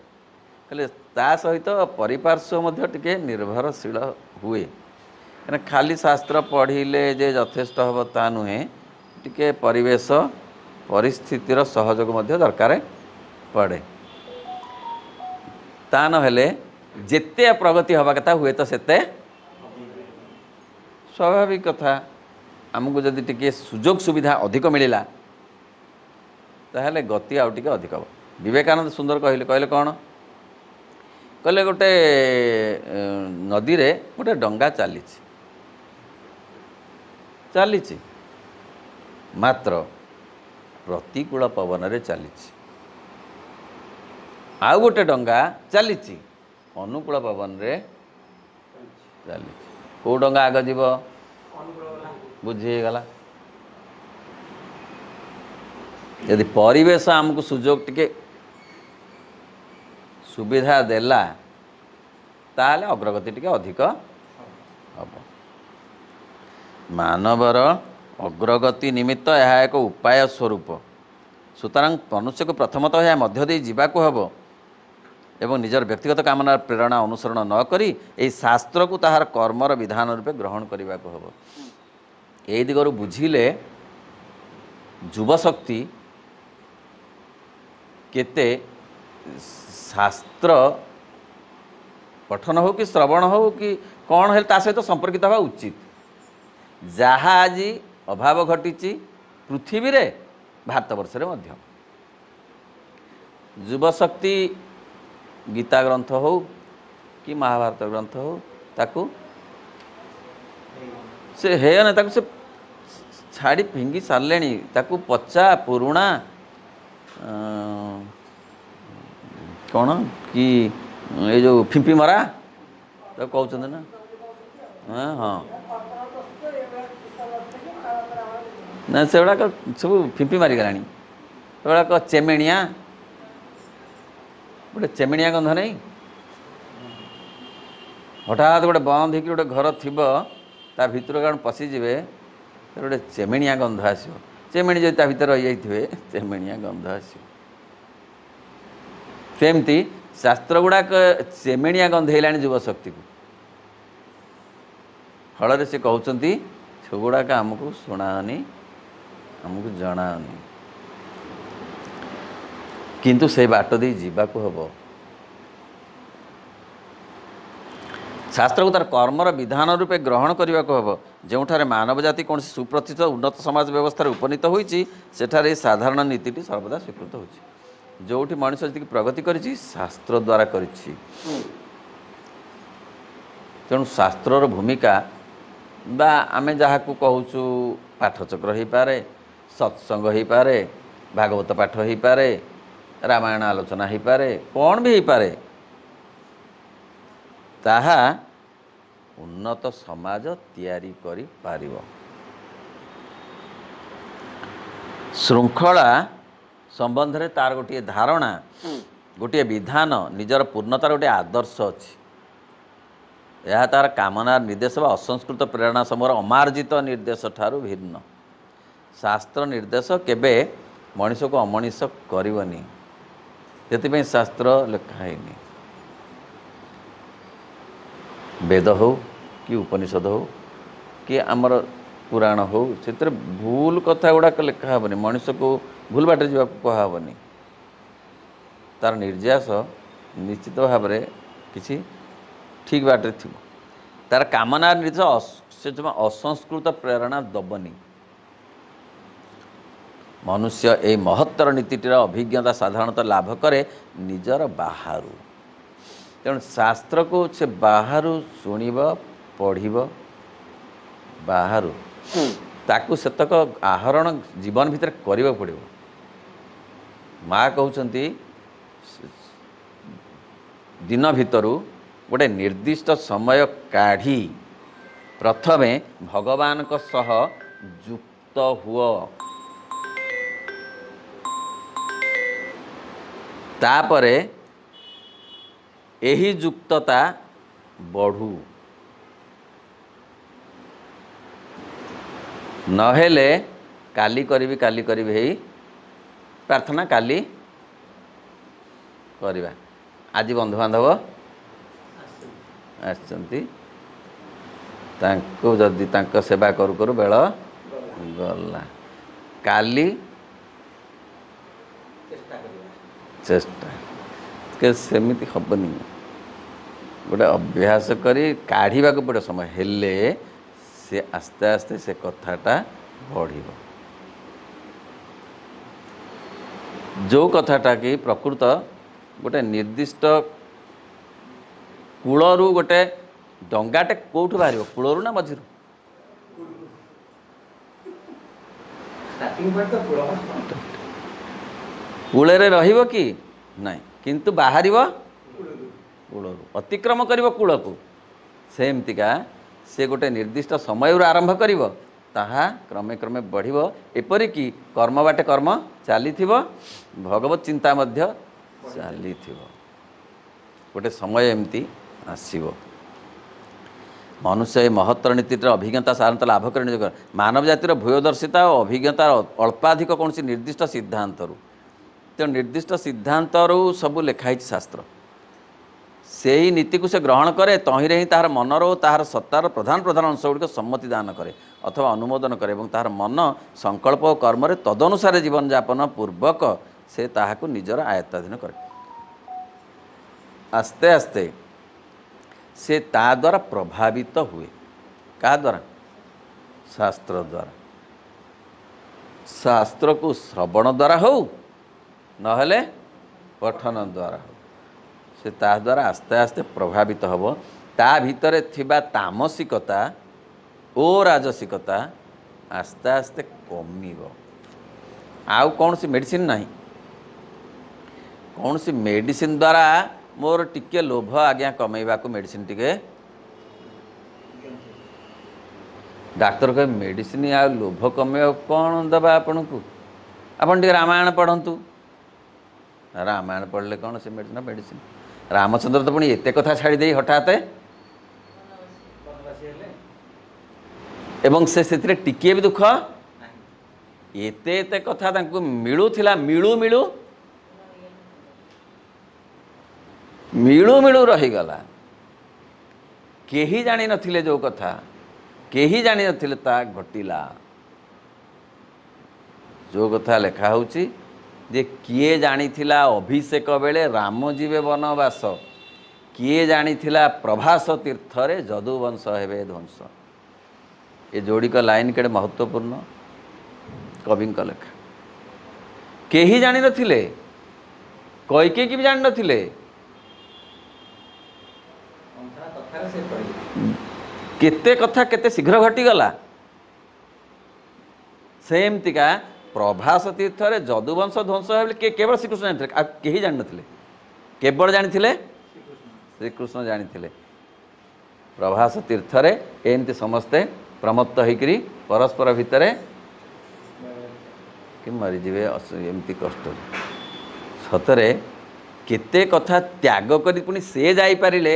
[SPEAKER 1] ହେଲେ ତା ସହିତ ପରିପାର୍ଶ୍ୱ ମଧ୍ୟ ଟିକେ ନିର୍ଭରଶୀଳ ହୁଏ। କାହିଁକିନା ଖାଲି ଶାସ୍ତ୍ର ପଢ଼ିଲେ ଯେ ଯଥେଷ୍ଟ ହେବ ତା ନୁହେଁ, ଟିକେ ପରିବେଶ ପରିସ୍ଥିତିର ସହଯୋଗ ମଧ୍ୟ ଦରକାର ପଡ଼େ। ତା ନହେଲେ ଯେତେ ପ୍ରଗତି ହେବା କଥା ହୁଏତ ସେତେ ସ୍ୱାଭାବିକ କଥା। ଆମକୁ ଯଦି ଟିକେ ସୁଯୋଗ ସୁବିଧା ଅଧିକ ମିଳିଲା ତାହେଲେ ଗତି ଆଉ ଟିକେ ଅଧିକ ହେବ। ବିବେକାନନ୍ଦ ସୁନ୍ଦର କହିଲେ, କହିଲେ କ'ଣ? କହିଲେ ଗୋଟେ ନଦୀରେ ଗୋଟେ ଡଙ୍ଗା ଚାଲିଛି ଚାଲିଛି ମାତ୍ର ପ୍ରତିକୂଳ ପବନରେ ଚାଲିଛି। ଆଉ ଗୋଟେ ଡଙ୍ଗା ଚାଲିଛି ଅନୁକୂଳ ପବନରେ ଚାଲିଛି। କେଉଁ ଡଙ୍ଗା ଆଗ ଯିବ? ବୁଝି ହେଇଗଲା। ଯଦି ପରିବେଶ ଆମକୁ ସୁଯୋଗ ଟିକେ ସୁବିଧା ଦେଲା ତାହେଲେ ଅଗ୍ରଗତି ଟିକେ ଅଧିକ ହେବ। ମାନବର ଅଗ୍ରଗତି ନିମିତ୍ତ ଏହା ଏକ ଉପାୟ ସ୍ୱରୂପ। ସୁତରାଂ ମନୁଷ୍ୟକୁ ପ୍ରଥମତଃ ଏହା ମଧ୍ୟ ଦେଇ ଯିବାକୁ ହେବ ଏବଂ ନିଜର ବ୍ୟକ୍ତିଗତ କାମନାର ପ୍ରେରଣା ଅନୁସରଣ ନ କରି ଏହି ଶାସ୍ତ୍ରକୁ ତାହାର କର୍ମର ବିଧାନ ରୂପେ ଗ୍ରହଣ କରିବାକୁ ହେବ। ଏହି ଦିଗରୁ ବୁଝିଲେ ଯୁବଶକ୍ତି କେତେ ଶାସ୍ତ୍ର ପଠନ ହେଉ କି ଶ୍ରବଣ ହେଉ କି କ'ଣ ହେଲେ ତା ସହିତ ସମ୍ପର୍କିତ ହେବା ଉଚିତ। ଯାହା ଆଜି ଅଭାବ ଘଟିଛି ପୃଥିବୀରେ, ଭାରତବର୍ଷରେ ମଧ୍ୟ। ଯୁବଶକ୍ତି ଗୀତା ଗ୍ରନ୍ଥ ହେଉ କି ମହାଭାରତ ଗ୍ରନ୍ଥ ହେଉ ତାକୁ ସେ ହେୟ ନା, ତାକୁ ସେ ଛାଡ଼ି ଫିଙ୍ଗି ସାରିଲେଣି। ତାକୁ ପଚା ପୁରୁଣା କ'ଣ କି ଏଇ ଯେଉଁ ଫିମ୍ପି ମରା ତାକୁ କହୁଛନ୍ତି ନା, ହଁ ହଁ ନା, ସେଗୁଡ଼ାକ ସବୁ ଫିମ୍ପି ମାରିଗଲାଣି। ସେଗୁଡ଼ାକ ଚେମେଣିଆ, ଗୋଟେ ଚେମେଣିଆ ଗନ୍ଧ ନାହିଁ। ହଠାତ୍ ଗୋଟେ ବନ୍ଦ ହେଇକି ଗୋଟେ ଘର ଥିବ, ତା ଭିତରୁ କ'ଣ ପଶିଯିବେ, ଗୋଟେ ଚେମେଣିଆ ଗନ୍ଧ ଆସିବ। ଚେମେଣି ଯଦି ତା ଭିତରେ ରହିଯାଇଥିବେ ଚେମେଣିଆ ଗନ୍ଧ ଆସିବ। ସେମିତି ଶାସ୍ତ୍ର ଗୁଡ଼ାକ ଚେମେଣିଆ ଗନ୍ଧ ହେଇଲାଣି ଯୁବଶକ୍ତିକୁ। ଫଳରେ ସେ କହୁଛନ୍ତି ସେଗୁଡ଼ାକ ଆମକୁ ଶୁଣାଅନି, ଆମକୁ ଜଣାଅନି, କିନ୍ତୁ ସେ ବାଟ ଦେଇ ଯିବାକୁ ହେବ। ଶାସ୍ତ୍ରକୁ ତାର କର୍ମର ବିଧାନ ରୂପେ ଗ୍ରହଣ କରିବାକୁ ହେବ। ଯେଉଁଠାରେ ମାନବ ଜାତି କୌଣସି ସୁପ୍ରତିଷ୍ଠିତ ଉନ୍ନତ ସମାଜ ବ୍ୟବସ୍ଥାରେ ଉପନୀତ ହୋଇଛି ସେଠାରେ ଏହି ସାଧାରଣ ନୀତିଟି ସର୍ବଦା ସ୍ୱୀକୃତ ହେଉଛି। ଯେଉଁଠି ମଣିଷ ଯେତିକି ପ୍ରଗତି କରିଛି ଶାସ୍ତ୍ର ଦ୍ୱାରା କରିଛି। ତେଣୁ ଶାସ୍ତ୍ରର ଭୂମିକା ବା ଆମେ ଯାହାକୁ କହୁଛୁ ପାଠଚକ୍ର ହେଇପାରେ, ସତ୍ସଙ୍ଗ ହେଇପାରେ, ଭାଗବତ ପାଠ ହେଇପାରେ, ରାମାୟଣ ଆଲୋଚନା ହେଇପାରେ, କ'ଣ ବି ହେଇପାରେ, ତାହା ଉନ୍ନତ ସମାଜ ତିଆରି କରିପାରିବ। ଶୃଙ୍ଖଳା ସମ୍ବନ୍ଧରେ ତାର ଗୋଟିଏ ଧାରଣା, ଗୋଟିଏ ବିଧାନ, ନିଜର ପୂର୍ଣ୍ଣତାର ଗୋଟିଏ ଆଦର୍ଶ ଅଛି। ଏହା ତାର କାମନାର ନିର୍ଦ୍ଦେଶ ବା ଅସଂସ୍କୃତ ପ୍ରେରଣା ସମୂହର ଅମାର୍ଜିତ ନିର୍ଦ୍ଦେଶ ଠାରୁ ଭିନ୍ନ। ଶାସ୍ତ୍ର ନିର୍ଦ୍ଦେଶ କେବେ ମଣିଷକୁ ଅମଣିଷ କରିବନି, ସେଥିପାଇଁ ଶାସ୍ତ୍ର ଲେଖା ହେଇନି। ବେଦ ହଉ କି ଉପନିଷଦ ହଉ କି ଆମର ପୁରାଣ ହଉ, ସେଥିରେ ଭୁଲ କଥା ଗୁଡ଼ାକ ଲେଖା ହେବନି, ମଣିଷକୁ ଭୁଲ ବାଟରେ ଯିବାକୁ କୁହାହେବନି। ତାର ନିର୍ଯାସ ନିଶ୍ଚିତ ଭାବରେ କିଛି ଠିକ୍ ବାଟରେ ଥିବ। ତାର କାମନା ନିର୍ଦ୍ଦେଶ ସେ ଜମା ଅସଂସ୍କୃତ ପ୍ରେରଣା ଦେବନି। ମନୁଷ୍ୟ ଏହି ମହତ୍ତର ନୀତିଟିର ଅଭିଜ୍ଞତା ସାଧାରଣତଃ ଲାଭ କରେ ନିଜର ବାହାରୁ। ତେଣୁ ଶାସ୍ତ୍ରକୁ ସେ ବାହାରୁ ଶୁଣିବ, ପଢ଼ିବ, ବାହାରୁ ତାକୁ ସେତକ ଆହରଣ ଜୀବନ ଭିତରେ କରିବାକୁ ପଡ଼ିବ। ମା କହୁଛନ୍ତି ଦିନ ଭିତରୁ ଗୋଟେ ନିର୍ଦ୍ଦିଷ୍ଟ ସମୟ କାଢ଼ି ପ୍ରଥମେ ଭଗବାନଙ୍କ ସହ ଯୁକ୍ତ ହୁଅ, ତାପରେ ଏହି ଯୁକ୍ତତା ବଢ଼ୁ, ନହେଲେ କାଲି କରିବି କାଲି କରିବି ହେଇ ପ୍ରାର୍ଥନା କାଲି କରିବା। ଆଜି ବନ୍ଧୁବାନ୍ଧବ ଆସିଛନ୍ତି, ତାଙ୍କୁ ଯଦି ତାଙ୍କ ସେବା କରୁ କରୁ ବେଳ ଗଲା। କାଲି ଚେଷ୍ଟା, ସେମିତି ହେବନି, ଗୋଟେ ଅଭ୍ୟାସ କରି କାଢ଼ିବାକୁ ପଡ଼ିବ ସମୟ, ହେଲେ ସେ ଆସ୍ତେ ଆସ୍ତେ ସେ କଥାଟା ବଢ଼ିବ। ଯେଉଁ କଥାଟା କି ପ୍ରକୃତ ଗୋଟେ ନିର୍ଦ୍ଦିଷ୍ଟ କୂଳରୁ, ଗୋଟେ ଡଙ୍ଗାଟେ କେଉଁଠୁ ବାହାରିବ, କୂଳରୁ ନା ମଝିରୁ? କୂଳରେ ରହିବ କି ନାଇଁ, କିନ୍ତୁ ବାହାରିବ କୂଳରୁ, ଅତିକ୍ରମ କରିବ କୂଳକୁ। ସେମିତିକା ସେ ଗୋଟେ ନିର୍ଦ୍ଦିଷ୍ଟ ସମୟରୁ ଆରମ୍ଭ କରିବ, ତାହା କ୍ରମେ କ୍ରମେ ବଢ଼ିବ। ଏପରିକି କର୍ମ ବାଟେ କର୍ମ ଚାଲିଥିବ, ଭଗବତ ଚିନ୍ତା ମଧ୍ୟ ଚାଲିଥିବ। ଗୋଟେ ସମୟ ଏମିତି ଆସିବ। ମନୁଷ୍ୟ ଏ ମହତ୍ତର ନୀତିର ଅଭିଜ୍ଞତା ସାଧାରଣତଃ ଲାଭ କରି ନିଜ ମାନବ ଜାତିର ଭୂୟଦର୍ଶିତା ଓ ଅଭିଜ୍ଞତାର ଅଳ୍ପାଧିକ କୌଣସି ନିର୍ଦ୍ଦିଷ୍ଟ ସିଦ୍ଧାନ୍ତରୁ, ତେଣୁ ନିର୍ଦ୍ଦିଷ୍ଟ ସିଦ୍ଧାନ୍ତରୁ ସବୁ ଲେଖା ହେଇଛି ଶାସ୍ତ୍ର। ସେଇ ନୀତିକୁ ସେ ଗ୍ରହଣ କରେ, ତହିଁରେ ହିଁ ତାହାର ମନର ଓ ତାହାର ସତ୍ତାର ପ୍ରଧାନ ପ୍ରଧାନ ଅଂଶ ଗୁଡ଼ିକ ସମ୍ମତି ଦାନ କରେ ଅଥବା ଅନୁମୋଦନ କରେ ଏବଂ ତାହାର ମନ ସଂକଳ୍ପ ଓ କର୍ମରେ ତଦନୁସାରେ ଜୀବନଯାପନ ପୂର୍ବକ ସେ ତାହାକୁ ନିଜର ଆୟତ୍ତାଧୀନ କରେ। ଆସ୍ତେ ଆସ୍ତେ ସେ ତା ଦ୍ୱାରା ପ୍ରଭାବିତ ହୁଏ। କାହା ଦ୍ୱାରା? ଶାସ୍ତ୍ର ଦ୍ୱାରା। ଶାସ୍ତ୍ରକୁ ଶ୍ରବଣ ଦ୍ୱାରା ହେଉ, ନହେଲେ ପଠନ ଦ୍ୱାରା ହେଉ, ସେ ତା ଦ୍ୱାରା ଆସ୍ତେ ଆସ୍ତେ ପ୍ରଭାବିତ ହେବ। ତା ଭିତରେ ଥିବା ତାମସିକତା ଓ ରାଜସିକତା ଆସ୍ତେ ଆସ୍ତେ କମିବ। ଆଉ କୌଣସି ମେଡ଼ିସିନ ନାହିଁ। କୌଣସି ମେଡ଼ିସିନ ଦ୍ୱାରା ମୋର ଟିକେ ଲୋଭ ଆଜ୍ଞା କମେଇବାକୁ ମେଡ଼ିସିନ ଟିକେ, ଡାକ୍ତର କହେ ମେଡ଼ିସିନ ଆଉ ଲୋଭ କମେଇବାକୁ କ'ଣ ଦେବା ଆପଣଙ୍କୁ, ଆପଣ ଟିକେ ରାମାୟଣ ପଢ଼ନ୍ତୁ। ରାମାୟଣ ପଢ଼ିଲେ କ'ଣ ସେ ମେଡ଼ିସିନ ମେଡ଼ିସିନ ରାମଚନ୍ଦ୍ର ତ ପୁଣି ଏତେ କଥା ଛାଡ଼ି ଦେଇ ହଠାତ୍, ଏବଂ ସେ ସେଥିରେ ଟିକିଏ ବି ଦୁଃଖ, ଏତେ ଏତେ କଥା ତାଙ୍କୁ ମିଳୁଥିଲା, ମିଳୁ ମିଳୁ ମିଳୁ ମିଳୁ ରହିଗଲା। କେହି ଜାଣିନଥିଲେ ଯେଉଁ କଥା, କେହି ଜାଣିନଥିଲେ ତା ଘଟିଲା। ଯେଉଁ କଥା ଲେଖା ହେଉଛି ଯେ କିଏ ଜାଣିଥିଲା ଅଭିଷେକ ବେଳେ ରାମ ଯିବେ ବନବାସ, କିଏ ଜାଣିଥିଲା ପ୍ରଭାସ ତୀର୍ଥରେ ଯଦୁବଂଶ ହେବେ ଧ୍ୱଂସ। ଏ ଯୋଡ଼ିକ ଲାଇନ୍ କେଡ଼େ ମହତ୍ତ୍ୱପୂର୍ଣ୍ଣ କବିଙ୍କ ଲେଖା। କେହି ଜାଣିନଥିଲେ, କୈକେୟୀ ବି ଜାଣିନଥିଲେ। କେତେ କଥା କେତେ ଶୀଘ୍ର ଘଟିଗଲା। ସେମିତିକା ପ୍ରଭାସ ତୀର୍ଥରେ ଯଦୁବଂଶ ଧ୍ୱଂସ ହେବେ ବୋଲି କେବଳ ଶ୍ରୀକୃଷ୍ଣ ଜାଣିଥିଲେ, ଆଉ କେହି ଜାଣିନଥିଲେ। କେବଳ ଜାଣିଥିଲେ ଶ୍ରୀକୃଷ୍ଣ ଜାଣିଥିଲେ। ପ୍ରଭାସ ତୀର୍ଥରେ ଏମିତି ସମସ୍ତେ ପ୍ରମତ୍ତ ହେଇକରି ପରସ୍ପର ଭିତରେ କି ମରିଯିବେ ଏମିତି କଷ୍ଟ। ସତରେ କେତେ କଥା ତ୍ୟାଗ କରି ପୁଣି ସେ ଯାଇପାରିଲେ।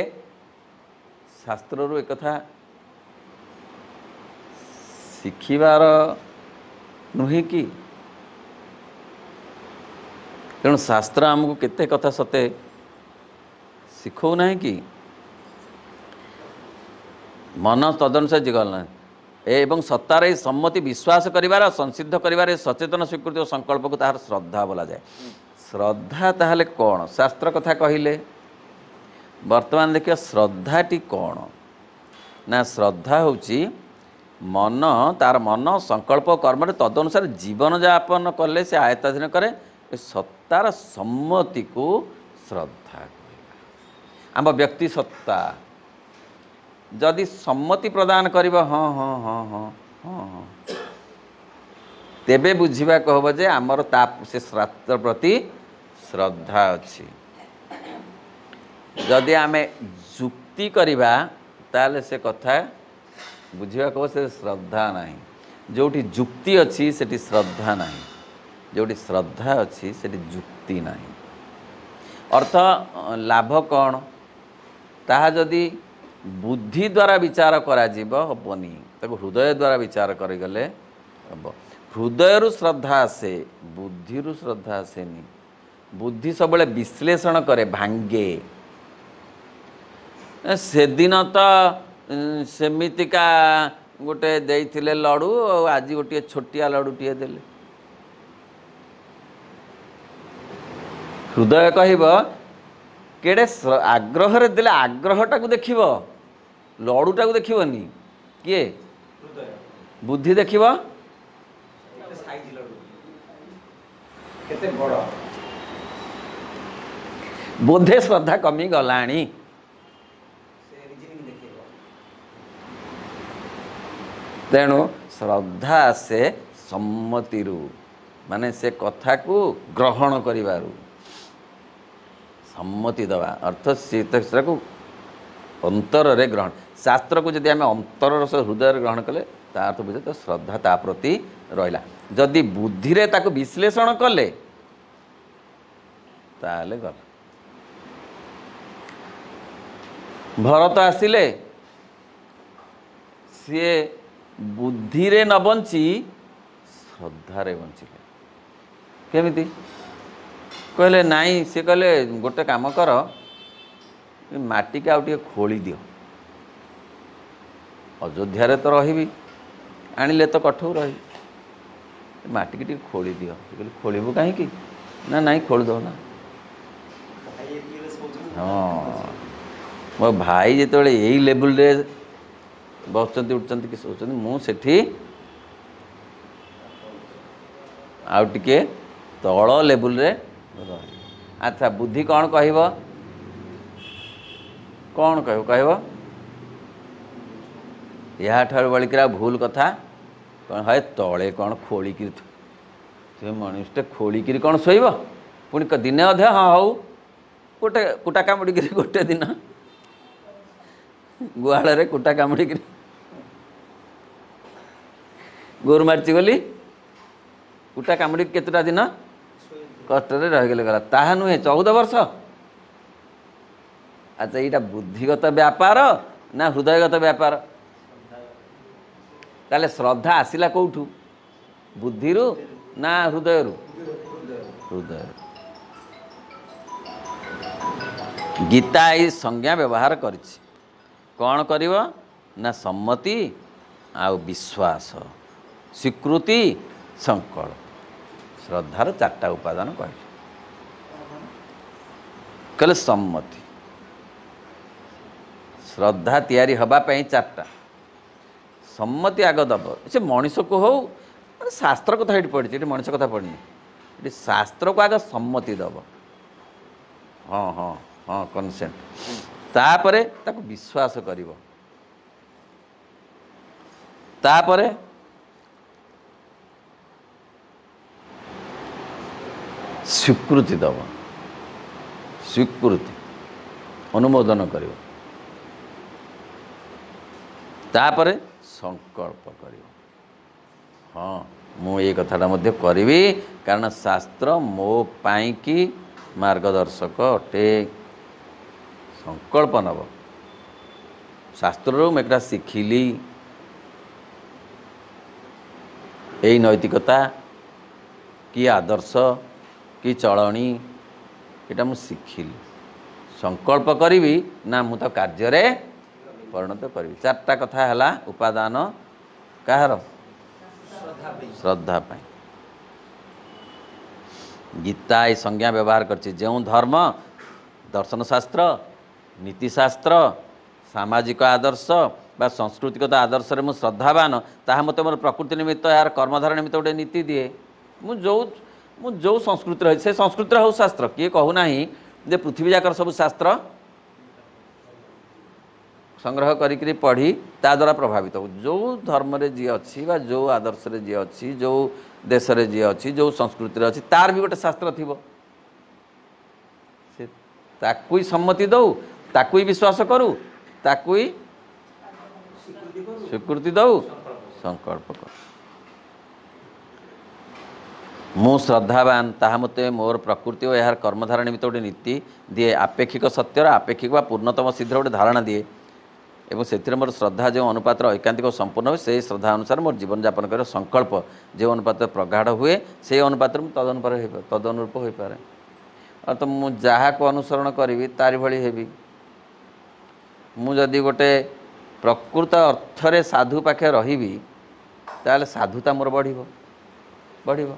[SPEAKER 1] ଶାସ୍ତ୍ରରୁ ଏକଥା ଶିଖିବାର ନୁହେଁ କି? ତେଣୁ ଶାସ୍ତ୍ର ଆମକୁ କେତେ କଥା ସତେ ଶିଖଉନାହିଁ କି? ମନ ତଦନୁସାରେ ଗଲା ଏବଂ ସତ୍ତାର ଏହି ସମ୍ମତି ବିଶ୍ୱାସ କରିବାର, ସଂସିଦ୍ଧ କରିବାର ସଚେତନ ସ୍ୱୀକୃତି ଓ ସଂକଳ୍ପକୁ ତାହାର ଶ୍ରଦ୍ଧା ବୋଲାଯାଏ। ଶ୍ରଦ୍ଧା ତାହେଲେ କ'ଣ? ଶାସ୍ତ୍ର କଥା କହିଲେ, ବର୍ତ୍ତମାନ ଦେଖିବା ଶ୍ରଦ୍ଧାଟି କ'ଣ ନା, ଶ୍ରଦ୍ଧା ହେଉଛି ମନ, ତାର ମନ ସଂକଳ୍ପ କର୍ମରେ ତଦନୁସାରେ ଜୀବନଯାପନ କଲେ ସେ ଆୟତ୍ତାଧୀନ କରେ, ଏ ସତ୍ତାର ସମ୍ମତିକୁ ଶ୍ରଦ୍ଧା କହିବା। ଆମ ବ୍ୟକ୍ତି ସତ୍ତା ଯଦି ସମ୍ମତି ପ୍ରଦାନ କରିବ, ହଁ ହଁ ହଁ ହଁ ହଁ ହଁ, ତେବେ ବୁଝିବାକୁ ହେବ ଯେ ଆମର ତା ସେ ଶାସ୍ତ୍ର ପ୍ରତି ଶ୍ରଦ୍ଧା ଅଛି। ଯଦି ଆମେ ଯୁକ୍ତି କରିବା ତାହେଲେ ସେ କଥା ବୁଝିବାକୁ ହେବ ସେ ଶ୍ରଦ୍ଧା ନାହିଁ। ଯେଉଁଠି ଯୁକ୍ତି ଅଛି ସେଠି ଶ୍ରଦ୍ଧା ନାହିଁ, ଯେଉଁଠି ଶ୍ରଦ୍ଧା ଅଛି ସେଠି ଯୁକ୍ତି ନାହିଁ। ଅର୍ଥ ଲାଭ କ'ଣ? ତାହା ଯଦି ବୁଦ୍ଧି ଦ୍ୱାରା ବିଚାର କରାଯିବ ହେବନି, ତାକୁ ହୃଦୟ ଦ୍ୱାରା ବିଚାର କରିଗଲେ ହେବ। ହୃଦୟରୁ ଶ୍ରଦ୍ଧା ଆସେ, ବୁଦ୍ଧିରୁ ଶ୍ରଦ୍ଧା ଆସେନି। ବୁଦ୍ଧି ସବୁବେଳେ ବିଶ୍ଳେଷଣ କରେ, ଭାଙ୍ଗେ। ସେଦିନ ତ ସେମିତିକା ଗୋଟେ ଦେଇଥିଲେ ଲଡ଼ୁ, ଆଉ ଆଜି ଗୋଟିଏ ଛୋଟିଆ ଲଡ଼ୁଟିଏ ଦେଲେ। ହୃଦୟ କହିବ କେଡ଼େ ଆଗ୍ରହରେ ଦେଲେ, ଆଗ୍ରହଟାକୁ ଦେଖିବ, ଲଡ଼ୁଟାକୁ ଦେଖିବନି। କିଏ? ବୁଦ୍ଧି ଦେଖିବ ବୋଧେ ଶ୍ରଦ୍ଧା କମିଗଲାଣି। ତେଣୁ ଶ୍ରଦ୍ଧା ଆସେ ସମ୍ମତିରୁ, ମାନେ ସେ କଥାକୁ ଗ୍ରହଣ କରିବାରୁ, ସମ୍ମତି ଦେବା ଅର୍ଥ ସେ ସେଟାକୁ ଅନ୍ତରରେ ଗ୍ରହଣ। ଶାସ୍ତ୍ରକୁ ଯଦି ଆମେ ଅନ୍ତରର ସହ ହୃଦୟରେ ଗ୍ରହଣ କଲେ, ତା ଅର୍ଥ ବୁଝେ ତ ଶ୍ରଦ୍ଧା ତା ପ୍ରତି ରହିଲା। ଯଦି ବୁଦ୍ଧିରେ ତାକୁ ବିଶ୍ଳେଷଣ କଲେ ତାହେଲେ ଗଲା। ଭରତ ଆସିଲେ, ସିଏ ବୁଦ୍ଧିରେ ନ ବଞ୍ଚି ଶ୍ରଦ୍ଧାରେ ବଞ୍ଚିଲେ। କେମିତି? କହିଲେ ନାଇଁ, ସେ କହିଲେ ଗୋଟେ କାମ କର, ମାଟିକି ଆଉ ଟିକେ ଖୋଳି ଦିଅ, ଅଯୋଧ୍ୟାରେ ତ ରହିବି, ଆଣିଲେ ତ କଠଉ ରହିବି, ମାଟିକି ଟିକେ ଖୋଳି ଦିଅ। ସେ କହିଲେ ଖୋଳିବୁ କାହିଁକି? ନା ନାଇଁ ଖୋଳି ଦଉ ନା। ହଁ, ମୋ ଭାଇ ଯେତେବେଳେ ଏଇ ଲେବୁଲରେ ବସୁଛନ୍ତି, ଉଠୁଛନ୍ତି କି ଶୋଉଛନ୍ତି, ମୁଁ ସେଠି ଆଉ ଟିକେ ତଳ ଲେବୁଲରେ ରହିବି। ଆଚ୍ଛା, ବୁଦ୍ଧି କ'ଣ କହିବ? କ'ଣ କହିବ? କହିବ ଏହାଠାରୁ ବଳିକିରି ଆଉ ଭୁଲ କଥା କ'ଣ? ହଏ ତଳେ କ'ଣ ଖୋଳିକିରି, ସେ ମଣିଷଟେ ଖୋଳିକିରି କ'ଣ ଶୋଇବ? ପୁଣି ଦିନେ ଅଧେ, ହଁ ହଉ, ଗୋଟେ କୁଟା କାମୁଡ଼ିକିରି ଗୋଟେ ଦିନ ଗୁହାଳରେ କୁଟା କାମୁଡ଼ିକିରି ଗୋରୁ ମାରିଛି ବୋଲି କୁଟା କାମୁଡ଼ିକି କେତେଟା ଦିନ କଷ୍ଟରେ ରହିଗଲେ, ଗଲା। ତାହା ନୁହେଁ, ଚଉଦ ବର୍ଷ। ଆଚ୍ଛା, ଏଇଟା ବୁଦ୍ଧିଗତ ବ୍ୟାପାର ନା ହୃଦୟଗତ ବ୍ୟାପାର? ତାହେଲେ ଶ୍ରଦ୍ଧା ଆସିଲା କେଉଁଠୁ? ବୁଦ୍ଧିରୁ ନା ହୃଦୟରୁ? ହୃଦୟରୁ। ଗୀତା ଏଇ ସଂଜ୍ଞା ବ୍ୟବହାର କରିଛି। କ'ଣ କରିବ ନା ସମ୍ମତି ଆଉ ବିଶ୍ୱାସ, ସ୍ୱୀକୃତି, ସଂକଳ୍ପ। ଶ୍ରଦ୍ଧାର ଚାରିଟା ଉପାଦାନ କହିଲେ। କହିଲେ ସମ୍ମତି। ଶ୍ରଦ୍ଧା ତିଆରି ହେବା ପାଇଁ ଚାରିଟା ସମ୍ମତି ଆଗ ଦେବ। ସେ ମଣିଷକୁ ହଉ, ମାନେ ଶାସ୍ତ୍ର କଥା ଏଠି ପଡ଼ିଛି, ଏଠି ମଣିଷ କଥା ପଡ଼ିନି। ଏଠି ଶାସ୍ତ୍ରକୁ ଆଗ ସମ୍ମତି ଦେବ, ହଁ ହଁ ହଁ, କନସେଣ୍ଟ। ତାପରେ ତାକୁ ବିଶ୍ୱାସ କରିବ, ତାପରେ ସ୍ୱୀକୃତି ଦେବ, ସ୍ୱୀକୃତି ଅନୁମୋଦନ କରିବ, ତାପରେ ସଂକଳ୍ପ କରିବ, ହଁ ମୁଁ ଏଇ କଥାଟା ମଧ୍ୟ କରିବି, କାରଣ ଶାସ୍ତ୍ର ମୋ ପାଇଁକି ମାର୍ଗଦର୍ଶକ ଅଟେ। ସଂକଳ୍ପ ନେବ, ଶାସ୍ତ୍ରରୁ ମୁଁ ଏଇଟା ଶିଖିଲି, ଏଇ ନୈତିକତା କି ଆଦର୍ଶ କି ଚଳଣି, ଏଇଟା ମୁଁ ଶିଖିଲି, ସଂକଳ୍ପ କରିବି ନା ମୁଁ ତ କାର୍ଯ୍ୟରେ ପରିଣତ କରିବି। ଚାରିଟା କଥା ହେଲା ଉପାଦାନ କାହାର? ଶ୍ରଦ୍ଧା ପାଇଁ। ଗୀତା ଏଇ ସଂଜ୍ଞା ବ୍ୟବହାର କରିଛି। ଯେଉଁ ଧର୍ମ, ଦର୍ଶନଶାସ୍ତ୍ର, ନୀତିଶାସ୍ତ୍ର, ସାମାଜିକ ଆଦର୍ଶ ବା ସଂସ୍କୃତିଗତ ଆଦର୍ଶରେ ମୁଁ ଶ୍ରଦ୍ଧାବାନ, ତାହା ମୋତେ ମୋର ପ୍ରକୃତି ନିମିତ୍ତ, ଏହାର କର୍ମଧାରା ନିମିତ୍ତ ଗୋଟେ ନୀତି ଦିଏ। ମୁଁ ଯେଉଁ ମୁଁ ଯେଉଁ ସଂସ୍କୃତିରେ ରହିଛି ସେ ସଂସ୍କୃତିରେ ହେଉ ଶାସ୍ତ୍ର। କିଏ କହୁନାହିଁ ଯେ ପୃଥିବୀ ଯାକର ସବୁ ଶାସ୍ତ୍ର ସଂଗ୍ରହ କରିକିରି ପଢ଼ି ତା ଦ୍ୱାରା ପ୍ରଭାବିତ ହଉ। ଯେଉଁ ଧର୍ମରେ ଯିଏ ଅଛି ବା ଯେଉଁ ଆଦର୍ଶରେ ଯିଏ ଅଛି, ଯେଉଁ ଦେଶରେ ଯିଏ ଅଛି, ଯେଉଁ ସଂସ୍କୃତିରେ ଅଛି, ତାର ବି ଗୋଟେ ଶାସ୍ତ୍ର ଥିବ, ସେ ତାକୁ ହିଁ ସମ୍ମତି ଦଉ, ତାକୁ ହିଁ ବିଶ୍ୱାସ କରୁ, ତାକୁ ହିଁ ସ୍ୱୀକୃତି ଦଉ, ସଂକଳ୍ପ କରୁ। ମୁଁ ଶ୍ରଦ୍ଧାବାନ, ତାହା ମୋତେ ମୋର ପ୍ରକୃତି ଓ ଏହାର କର୍ମଧାରା ନିମିତ୍ତ ଗୋଟେ ନୀତି ଦିଏ। ଆପେକ୍ଷିକ ସତ୍ୟର ଆପେକ୍ଷିକ ବା ପୂର୍ଣ୍ଣତମ ସିଦ୍ଧିର ଗୋଟେ ଧାରଣା ଦିଏ। ଏବଂ ସେଥିରେ ମୋର ଶ୍ରଦ୍ଧା ଯେଉଁ ଅନୁପାତରେ ଐକାନ୍ତିକ ସମ୍ପୂର୍ଣ୍ଣ ହୁଏ, ସେଇ ଶ୍ରଦ୍ଧା ଅନୁସାରେ ମୋର ଜୀବନଯାପନ କରିବା ସଂକଳ୍ପ ଯେଉଁ ଅନୁପାତରେ ପ୍ରଗାଢ଼ ହୁଏ, ସେଇ ଅନୁପାତରେ ମୁଁ ତଦନୁପାତରେ ତଦନୁରୂପ ହୋଇପାରେ। ତ ମୁଁ ଯାହାକୁ ଅନୁସରଣ କରିବି ତାରି ଭଳି ହେବି। ମୁଁ ଯଦି ଗୋଟେ ପ୍ରକୃତ ଅର୍ଥରେ ସାଧୁ ପାଖେ ରହିବି, ତାହେଲେ ସାଧୁତା ମୋର ବଢ଼ିବ ବଢ଼ିବ।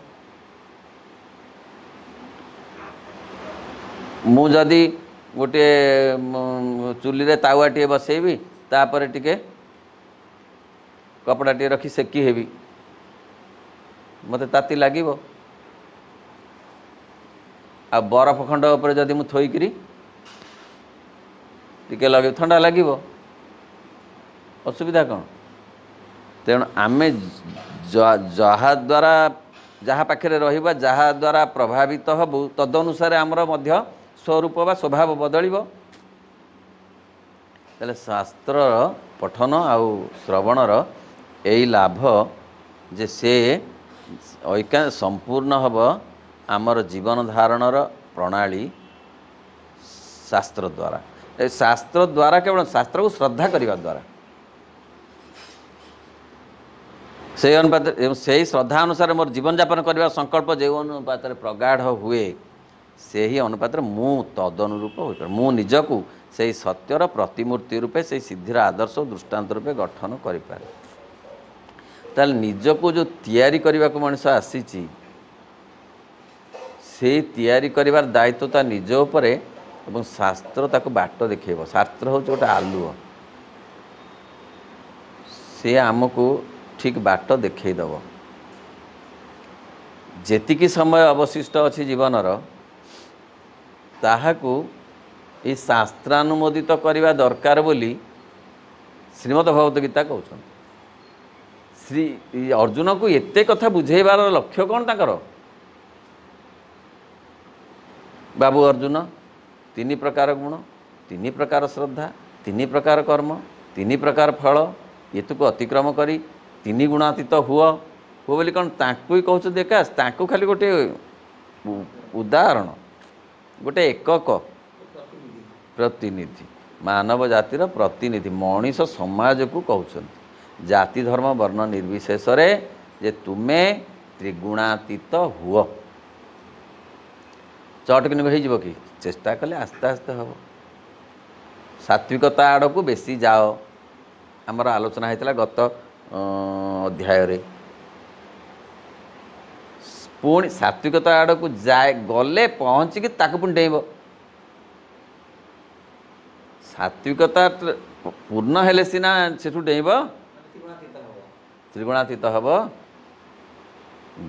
[SPEAKER 1] ମୁଁ ଯଦି ଗୋଟିଏ ଚୁଲିରେ ତାୱାଟିଏ ବସେଇବି, ତାପରେ ଟିକେ କପଡ଼ାଟିଏ ରଖି ସେକି ହେବି, ମୋତେ ତାତି ଲାଗିବ। ଆଉ ବରଫ ଖଣ୍ଡ ଉପରେ ଯଦି ମୁଁ ଥୋଇକିରି ଟିକେ ଲଗେଇବି, ଥଣ୍ଡା ଲାଗିବ। ଅସୁବିଧା କ'ଣ? ତେଣୁ ଆମେ ଯାହାଦ୍ୱାରା ଯାହା ପାଖରେ ରହିବା, ଯାହା ଦ୍ୱାରା ପ୍ରଭାବିତ ହେବୁ, ତଦନୁସାରେ ଆମର ମଧ୍ୟ ସ୍ୱରୂପ ବା ସ୍ୱଭାବ ବଦଳିବ। ତାହେଲେ ଶାସ୍ତ୍ରର ପଠନ ଆଉ ଶ୍ରବଣର ଏଇ ଲାଭ ଯେ ସେ ଐକା ସମ୍ପୂର୍ଣ୍ଣ ହେବ ଆମର ଜୀବନ ଧାରଣର ପ୍ରଣାଳୀ ଶାସ୍ତ୍ର ଦ୍ୱାରା। ଏ ଶାସ୍ତ୍ର ଦ୍ୱାରା କେବଳ ଶାସ୍ତ୍ରକୁ ଶ୍ରଦ୍ଧା କରିବା ଦ୍ୱାରା, ସେଇ ଅନୁପାତରେ ସେଇ ଶ୍ରଦ୍ଧା ଅନୁସାରେ ମୋର ଜୀବନଯାପନ କରିବା ସଂକଳ୍ପ ଯେଉଁ ଅନୁପାତରେ ପ୍ରଗାଢ଼ ହୁଏ, ସେହି ଅନୁପାତରେ ମୁଁ ତଦନୁରୂପ ହୋଇପାରେ। ମୁଁ ନିଜକୁ ସେଇ ସତ୍ୟର ପ୍ରତିମୂର୍ତ୍ତି ରୂପେ, ସେଇ ସିଦ୍ଧିର ଆଦର୍ଶ ଓ ଦୃଷ୍ଟାନ୍ତ ରୂପେ ଗଠନ କରିପାରେ। ତାହେଲେ ନିଜକୁ ଯେଉଁ ତିଆରି କରିବାକୁ ମଣିଷ ଆସିଛି, ସେଇ ତିଆରି କରିବାର ଦାୟିତ୍ୱ ତା ନିଜ ଉପରେ, ଏବଂ ଶାସ୍ତ୍ର ତାକୁ ବାଟ ଦେଖେଇବ। ଶାସ୍ତ୍ର ହେଉଛି ଗୋଟେ ଆଲୁଅ, ସେ ଆମକୁ ଠିକ୍ ବାଟ ଦେଖେଇଦେବ। ଯେତିକି ସମୟ ଅବଶିଷ୍ଟ ଅଛି ଜୀବନର, ତାହାକୁ ଏଇ ଶାସ୍ତ୍ରାନୁମୋଦିତ କରିବା ଦରକାର ବୋଲି ଶ୍ରୀମଦ୍ ଭଗବତ ଗୀତା କହୁଛନ୍ତି। ଶ୍ରୀ ଅର୍ଜୁନକୁ ଏତେ କଥା ବୁଝେଇବାର ଲକ୍ଷ୍ୟ କ'ଣ ତାଙ୍କର? ବାବୁ ଅର୍ଜୁନ, ତିନି ପ୍ରକାର ଗୁଣ, ତିନି ପ୍ରକାର ଶ୍ରଦ୍ଧା, ତିନି ପ୍ରକାର କର୍ମ, ତିନି ପ୍ରକାର ଫଳ, ଏତୁକୁ ଅତିକ୍ରମ କରି ତିନି ଗୁଣାତୀତ ହୁଅ ହୁଅ ବୋଲି କ'ଣ ତାଙ୍କୁ ହିଁ କହୁଛନ୍ତି ଏକା? ତାଙ୍କୁ ଖାଲି ଗୋଟେ ଉଦାହରଣ, ଗୋଟେ ଏକକ ପ୍ରତିନିଧି, ମାନବ ଜାତିର ପ୍ରତିନିଧି, ମଣିଷ ସମାଜକୁ କହୁଛନ୍ତି ଜାତି ଧର୍ମ ବର୍ଣ୍ଣ ନିର୍ବିଶେଷରେ ଯେ ତୁମେ ତ୍ରିଗୁଣାତୀତ ହୁଅ। ଚଟକିନି ହେଇଯିବ କି? ଚେଷ୍ଟା କଲେ ଆସ୍ତେ ଆସ୍ତେ ହେବ। ସାତ୍ವಿକତା ଆଡ଼କୁ ବେଶୀ ଯାଅ। ଆମର ଆଲୋଚନା ହେଇଥିଲା ଗତ ଅଧ୍ୟାୟରେ। ପୁଣି ସାତ୍ବିକତା ଆଡ଼କୁ ଯାଏ, ଗଲେ ପହଞ୍ଚିକି ତାକୁ ପୁଣି ଡେଇଁବ। ସାତ୍ବିକତା ପୂର୍ଣ୍ଣ ହେଲେ ସିନା ସେଠୁ ଡେଇଁବ, ତ୍ରିଗୁଣାତୀତ ହେବ।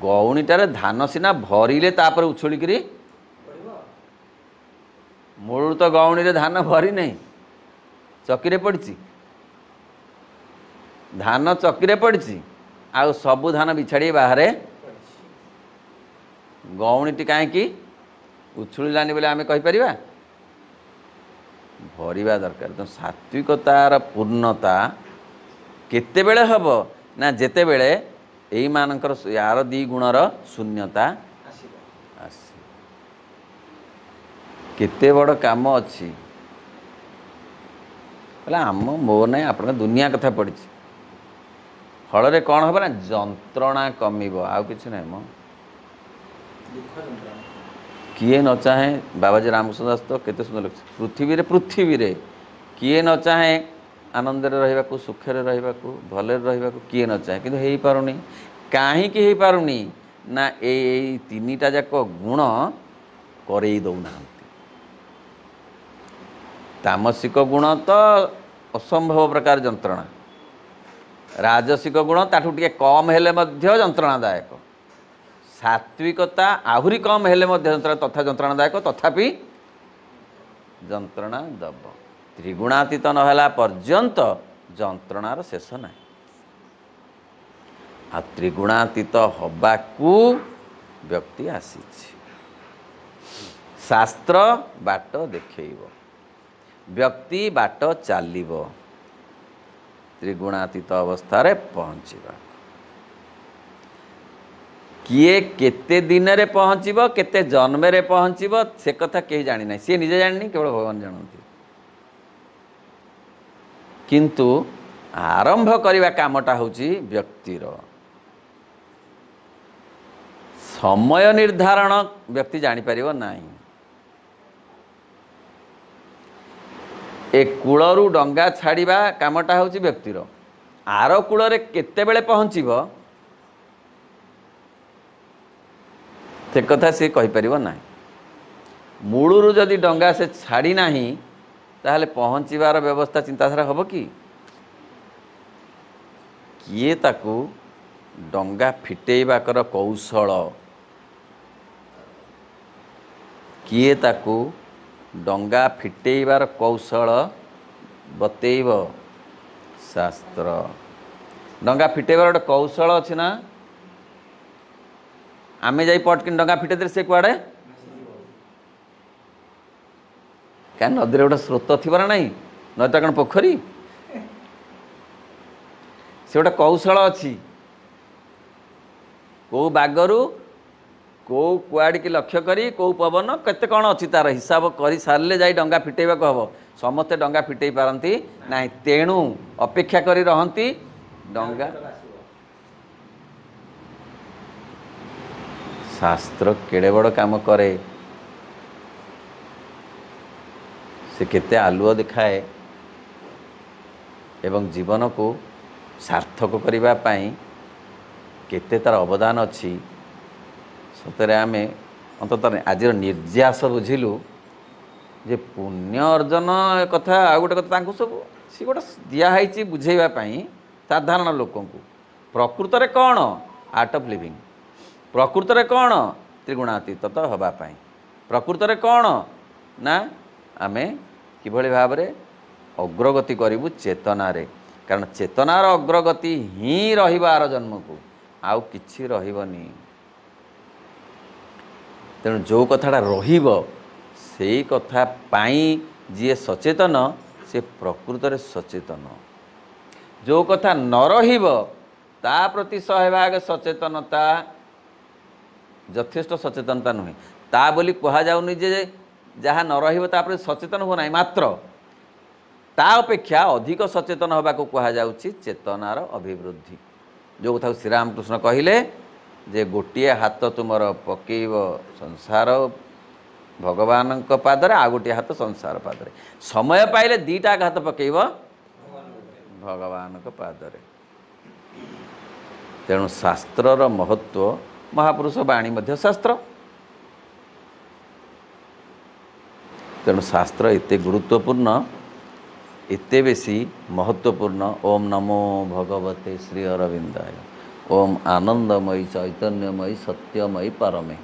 [SPEAKER 1] ଗଉଣୀଟାରେ ଧାନ ସିନା ଭରିଲେ ତାପରେ ଉଛୁଳିକିରି, ମୂଳରୁ ତ ଗଉଣୀରେ ଧାନ ଭରି ନାହିଁ, ଚକିରେ ପଡ଼ିଛି। ଧାନ ଚକିରେ ପଡ଼ିଛି, ଆଉ ସବୁ ଧାନ ବିଛାଡ଼ି ବାହାରେ। ଗଉଣୀଟି କାହିଁକି ଉଛୁଳିଲାନି ବୋଲି ଆମେ କହିପାରିବା? ଭରିବା ଦରକାର। ତ ସାତ୍ବିକତାର ପୂର୍ଣ୍ଣତା କେତେବେଳେ ହେବ ନା ଯେତେବେଳେ ଏଇମାନଙ୍କର ୟାର ଦୁଇ ଗୁଣର ଶୂନ୍ୟତା ଆସିବ। କେତେ ବଡ଼ କାମ ଅଛି। ବୋଲେ ଆମ ମୋ ନାଇଁ ଆପଣଙ୍କ ଦୁନିଆ କଥା ପଡ଼ିଛି। ଫଳରେ କ'ଣ ହେବ ନା ଯନ୍ତ୍ରଣା କମିବ, ଆଉ କିଛି ନାହିଁ ମ। କିଏ ନ ଚାହେଁ, ବାବାଜୀ ରାମକୃଷ୍ଣ ଦାସ ତ କେତେ ସୁନ୍ଦର ଲେଖିଛି, ପୃଥିବୀରେ ପୃଥିବୀରେ କିଏ ନ ଚାହେଁ ଆନନ୍ଦରେ ରହିବାକୁ, ସୁଖରେ ରହିବାକୁ, ଭଲରେ ରହିବାକୁ, କିଏ ନ ଚାହେଁ, କିନ୍ତୁ ହେଇପାରୁନି। କାହିଁକି ହେଇପାରୁନି ନା ଏଇ ଏଇ ତିନିଟା ଯାକ ଗୁଣ କରେଇ ଦେଉନାହାନ୍ତି। ତାମସିକ ଗୁଣ ତ ଅସମ୍ଭବ ପ୍ରକାର ଯନ୍ତ୍ରଣା, ରାଜସିକ ଗୁଣ ତାଠୁ ଟିକେ କମ୍ ହେଲେ ମଧ୍ୟ ଯନ୍ତ୍ରଣାଦାୟକ, ସାତ୍ବିକତା ଆହୁରି କମ୍ ହେଲେ ମଧ୍ୟ ଯନ୍ତ୍ରଣା ତଥା ଯନ୍ତ୍ରଣାଦାୟକ, ତଥାପି ଯନ୍ତ୍ରଣା ଦେବ। ତ୍ରିଗୁଣାତୀତ ନହେଲା ପର୍ଯ୍ୟନ୍ତ ଯନ୍ତ୍ରଣାର ଶେଷ ନାହିଁ। ଆଉ ତ୍ରିଗୁଣାତୀତ ହବାକୁ ବ୍ୟକ୍ତି ଆସିଛି। ଶାସ୍ତ୍ର ବାଟ ଦେଖେଇବ, ବ୍ୟକ୍ତି ବାଟ ଚାଲିବ ତ୍ରିଗୁଣାତୀତ ଅବସ୍ଥାରେ ପହଞ୍ଚିବା। କିଏ କେତେ ଦିନରେ ପହଞ୍ଚିବ, କେତେ ଜନ୍ମରେ ପହଞ୍ଚିବ, ସେ କଥା କେହି ଜାଣିନାହିଁ। ସିଏ ନିଜେ ଜାଣିନି, କେବଳ ଭଗବାନ ଜାଣନ୍ତି। କିନ୍ତୁ ଆରମ୍ଭ କରିବା କାମଟା ହେଉଛି ବ୍ୟକ୍ତିର। ସମୟ ନିର୍ଦ୍ଧାରଣ ବ୍ୟକ୍ତି ଜାଣିପାରିବ ନାହିଁ। ଏ କୂଳରୁ ଡଙ୍ଗା ଛାଡ଼ିବା କାମଟା ହେଉଛି ବ୍ୟକ୍ତିର। ଆର କୂଳରେ କେତେବେଳେ ପହଞ୍ଚିବ ସେ କଥା ସେ କହିପାରିବ ନାହିଁ। ମୂଳରୁ ଯଦି ଡଙ୍ଗା ସେ ଛାଡ଼ି ନାହିଁ ତାହେଲେ ପହଞ୍ଚିବାର ବ୍ୟବସ୍ଥା ଚିନ୍ତାଧାରା ହେବ କି? କିଏ ତାକୁ ଡଙ୍ଗା ଫିଟେଇବାର କୌଶଳ, କିଏ ତାକୁ ଡଙ୍ଗା ଫିଟେଇବାର କୌଶଳ ବତେଇବ? ଶାସ୍ତ୍ର। ଡଙ୍ଗା ଫିଟେଇବାର ଗୋଟେ କୌଶଳ ଅଛି ନା? ଆମେ ଯାଇ ପଟକିନି ଡଙ୍ଗା ଫିଟେଇ ଦେଲେ ସେ କୁଆଡ଼େ? କାରଣ ନଦୀରେ ଗୋଟେ ସ୍ରୋତ ଥିବ ନା ନାହିଁ? ନଦୀଟା କ'ଣ ପୋଖରୀ? ସେ ଗୋଟେ କୌଶଳ ଅଛି, କେଉଁ ବାଗରୁ କେଉଁ କୁଆଡ଼ିକି ଲକ୍ଷ୍ୟ କରି କେଉଁ ପବନ କେତେ କ'ଣ ଅଛି ତାର ହିସାବ କରି ସାରିଲେ ଯାଇ ଡଙ୍ଗା ଫିଟେଇବାକୁ ହେବ। ସମସ୍ତେ ଡଙ୍ଗା ଫିଟେଇ ପାରନ୍ତି ନାହିଁ, ତେଣୁ ଅପେକ୍ଷା କରି ରହନ୍ତି ଡଙ୍ଗା। ଶାସ୍ତ୍ର କେଡ଼େ ବଡ଼ କାମ କରେ, ସେ କେତେ ଆଲୁଅ ଦେଖାଏ ଏବଂ ଜୀବନକୁ ସାର୍ଥକ କରିବା ପାଇଁ କେତେ ତାର ଅବଦାନ ଅଛି। ସତରେ ଆମେ ଅନ୍ତତଃ ଆଜିର ନିର୍ଯାସ ବୁଝିଲୁ ଯେ ପୁଣ୍ୟ ଅର୍ଜନ କଥା ଆଉ ଗୋଟେ କଥା, ତାଙ୍କୁ ସବୁ ସେ ଗୋଟେ ଦିଆହେଇଛି ବୁଝେଇବା ପାଇଁ ସାଧାରଣ ଲୋକଙ୍କୁ। ପ୍ରକୃତରେ କ'ଣ ଆର୍ଟ ଅଫ୍ ଲିଭିଂ, ପ୍ରକୃତରେ କ'ଣ ତ୍ରିଗୁଣାତୀତ ତ ହେବା ପାଇଁ, ପ୍ରକୃତରେ କ'ଣ ନା ଆମେ କିଭଳି ଭାବରେ ଅଗ୍ରଗତି କରିବୁ ଚେତନାରେ। କାରଣ ଚେତନାର ଅଗ୍ରଗତି ହିଁ ରହିବ ଆର ଜନ୍ମକୁ, ଆଉ କିଛି ରହିବନି। ତେଣୁ ଯେଉଁ କଥାଟା ରହିବ ସେଇ କଥା ପାଇଁ ଯିଏ ସଚେତନ ସେ ପ୍ରକୃତରେ ସଚେତନ। ଯେଉଁ କଥା ନ ରହିବ ତା ପ୍ରତି ଶହେ ଭାଗ ସଚେତନତା ଯଥେଷ୍ଟ ସଚେତନତା ନୁହେଁ। ତା ବୋଲି କୁହାଯାଉନି ଯେ ଯାହା ନ ରହିବ ତା ପ୍ରତି ସଚେତନ ହୁଅ ନାହିଁ, ମାତ୍ର ତା ଅପେକ୍ଷା ଅଧିକ ସଚେତନ ହେବାକୁ କୁହାଯାଉଛି ଚେତନାର ଅଭିବୃଦ୍ଧି। ଯେଉଁ କଥାକୁ ଶ୍ରୀରାମକୃଷ୍ଣ କହିଲେ ଯେ ଗୋଟିଏ ହାତ ତୁମର ପକେଇବ ସଂସାର ଭଗବାନଙ୍କ ପାଦରେ, ଆଉ ଗୋଟିଏ ହାତ ସଂସାର ପାଦରେ। ସମୟ ପାଇଲେ ଦୁଇଟା ହାତ ପକେଇବ ଭଗବାନଙ୍କ ପାଦରେ। ତେଣୁ ଶାସ୍ତ୍ରର ମହତ୍ଵ, ମହାପୁରୁଷ ବାଣୀ ମଧ୍ୟ ଶାସ୍ତ୍ର। ତେଣୁ ଶାସ୍ତ୍ର ଏତେ ଗୁରୁତ୍ୱପୂର୍ଣ୍ଣ, ଏତେ ବେଶୀ ମହତ୍ତ୍ୱପୂର୍ଣ୍ଣ। ଓମ୍ ନମୋ ଭଗବତେ ଶ୍ରୀ ଅରବିନ୍ଦାୟ, ଓମ୍ ଆନନ୍ଦମୟୀ ଚୈତନ୍ୟମୟୀ ସତ୍ୟମୟୀ ପରମେ।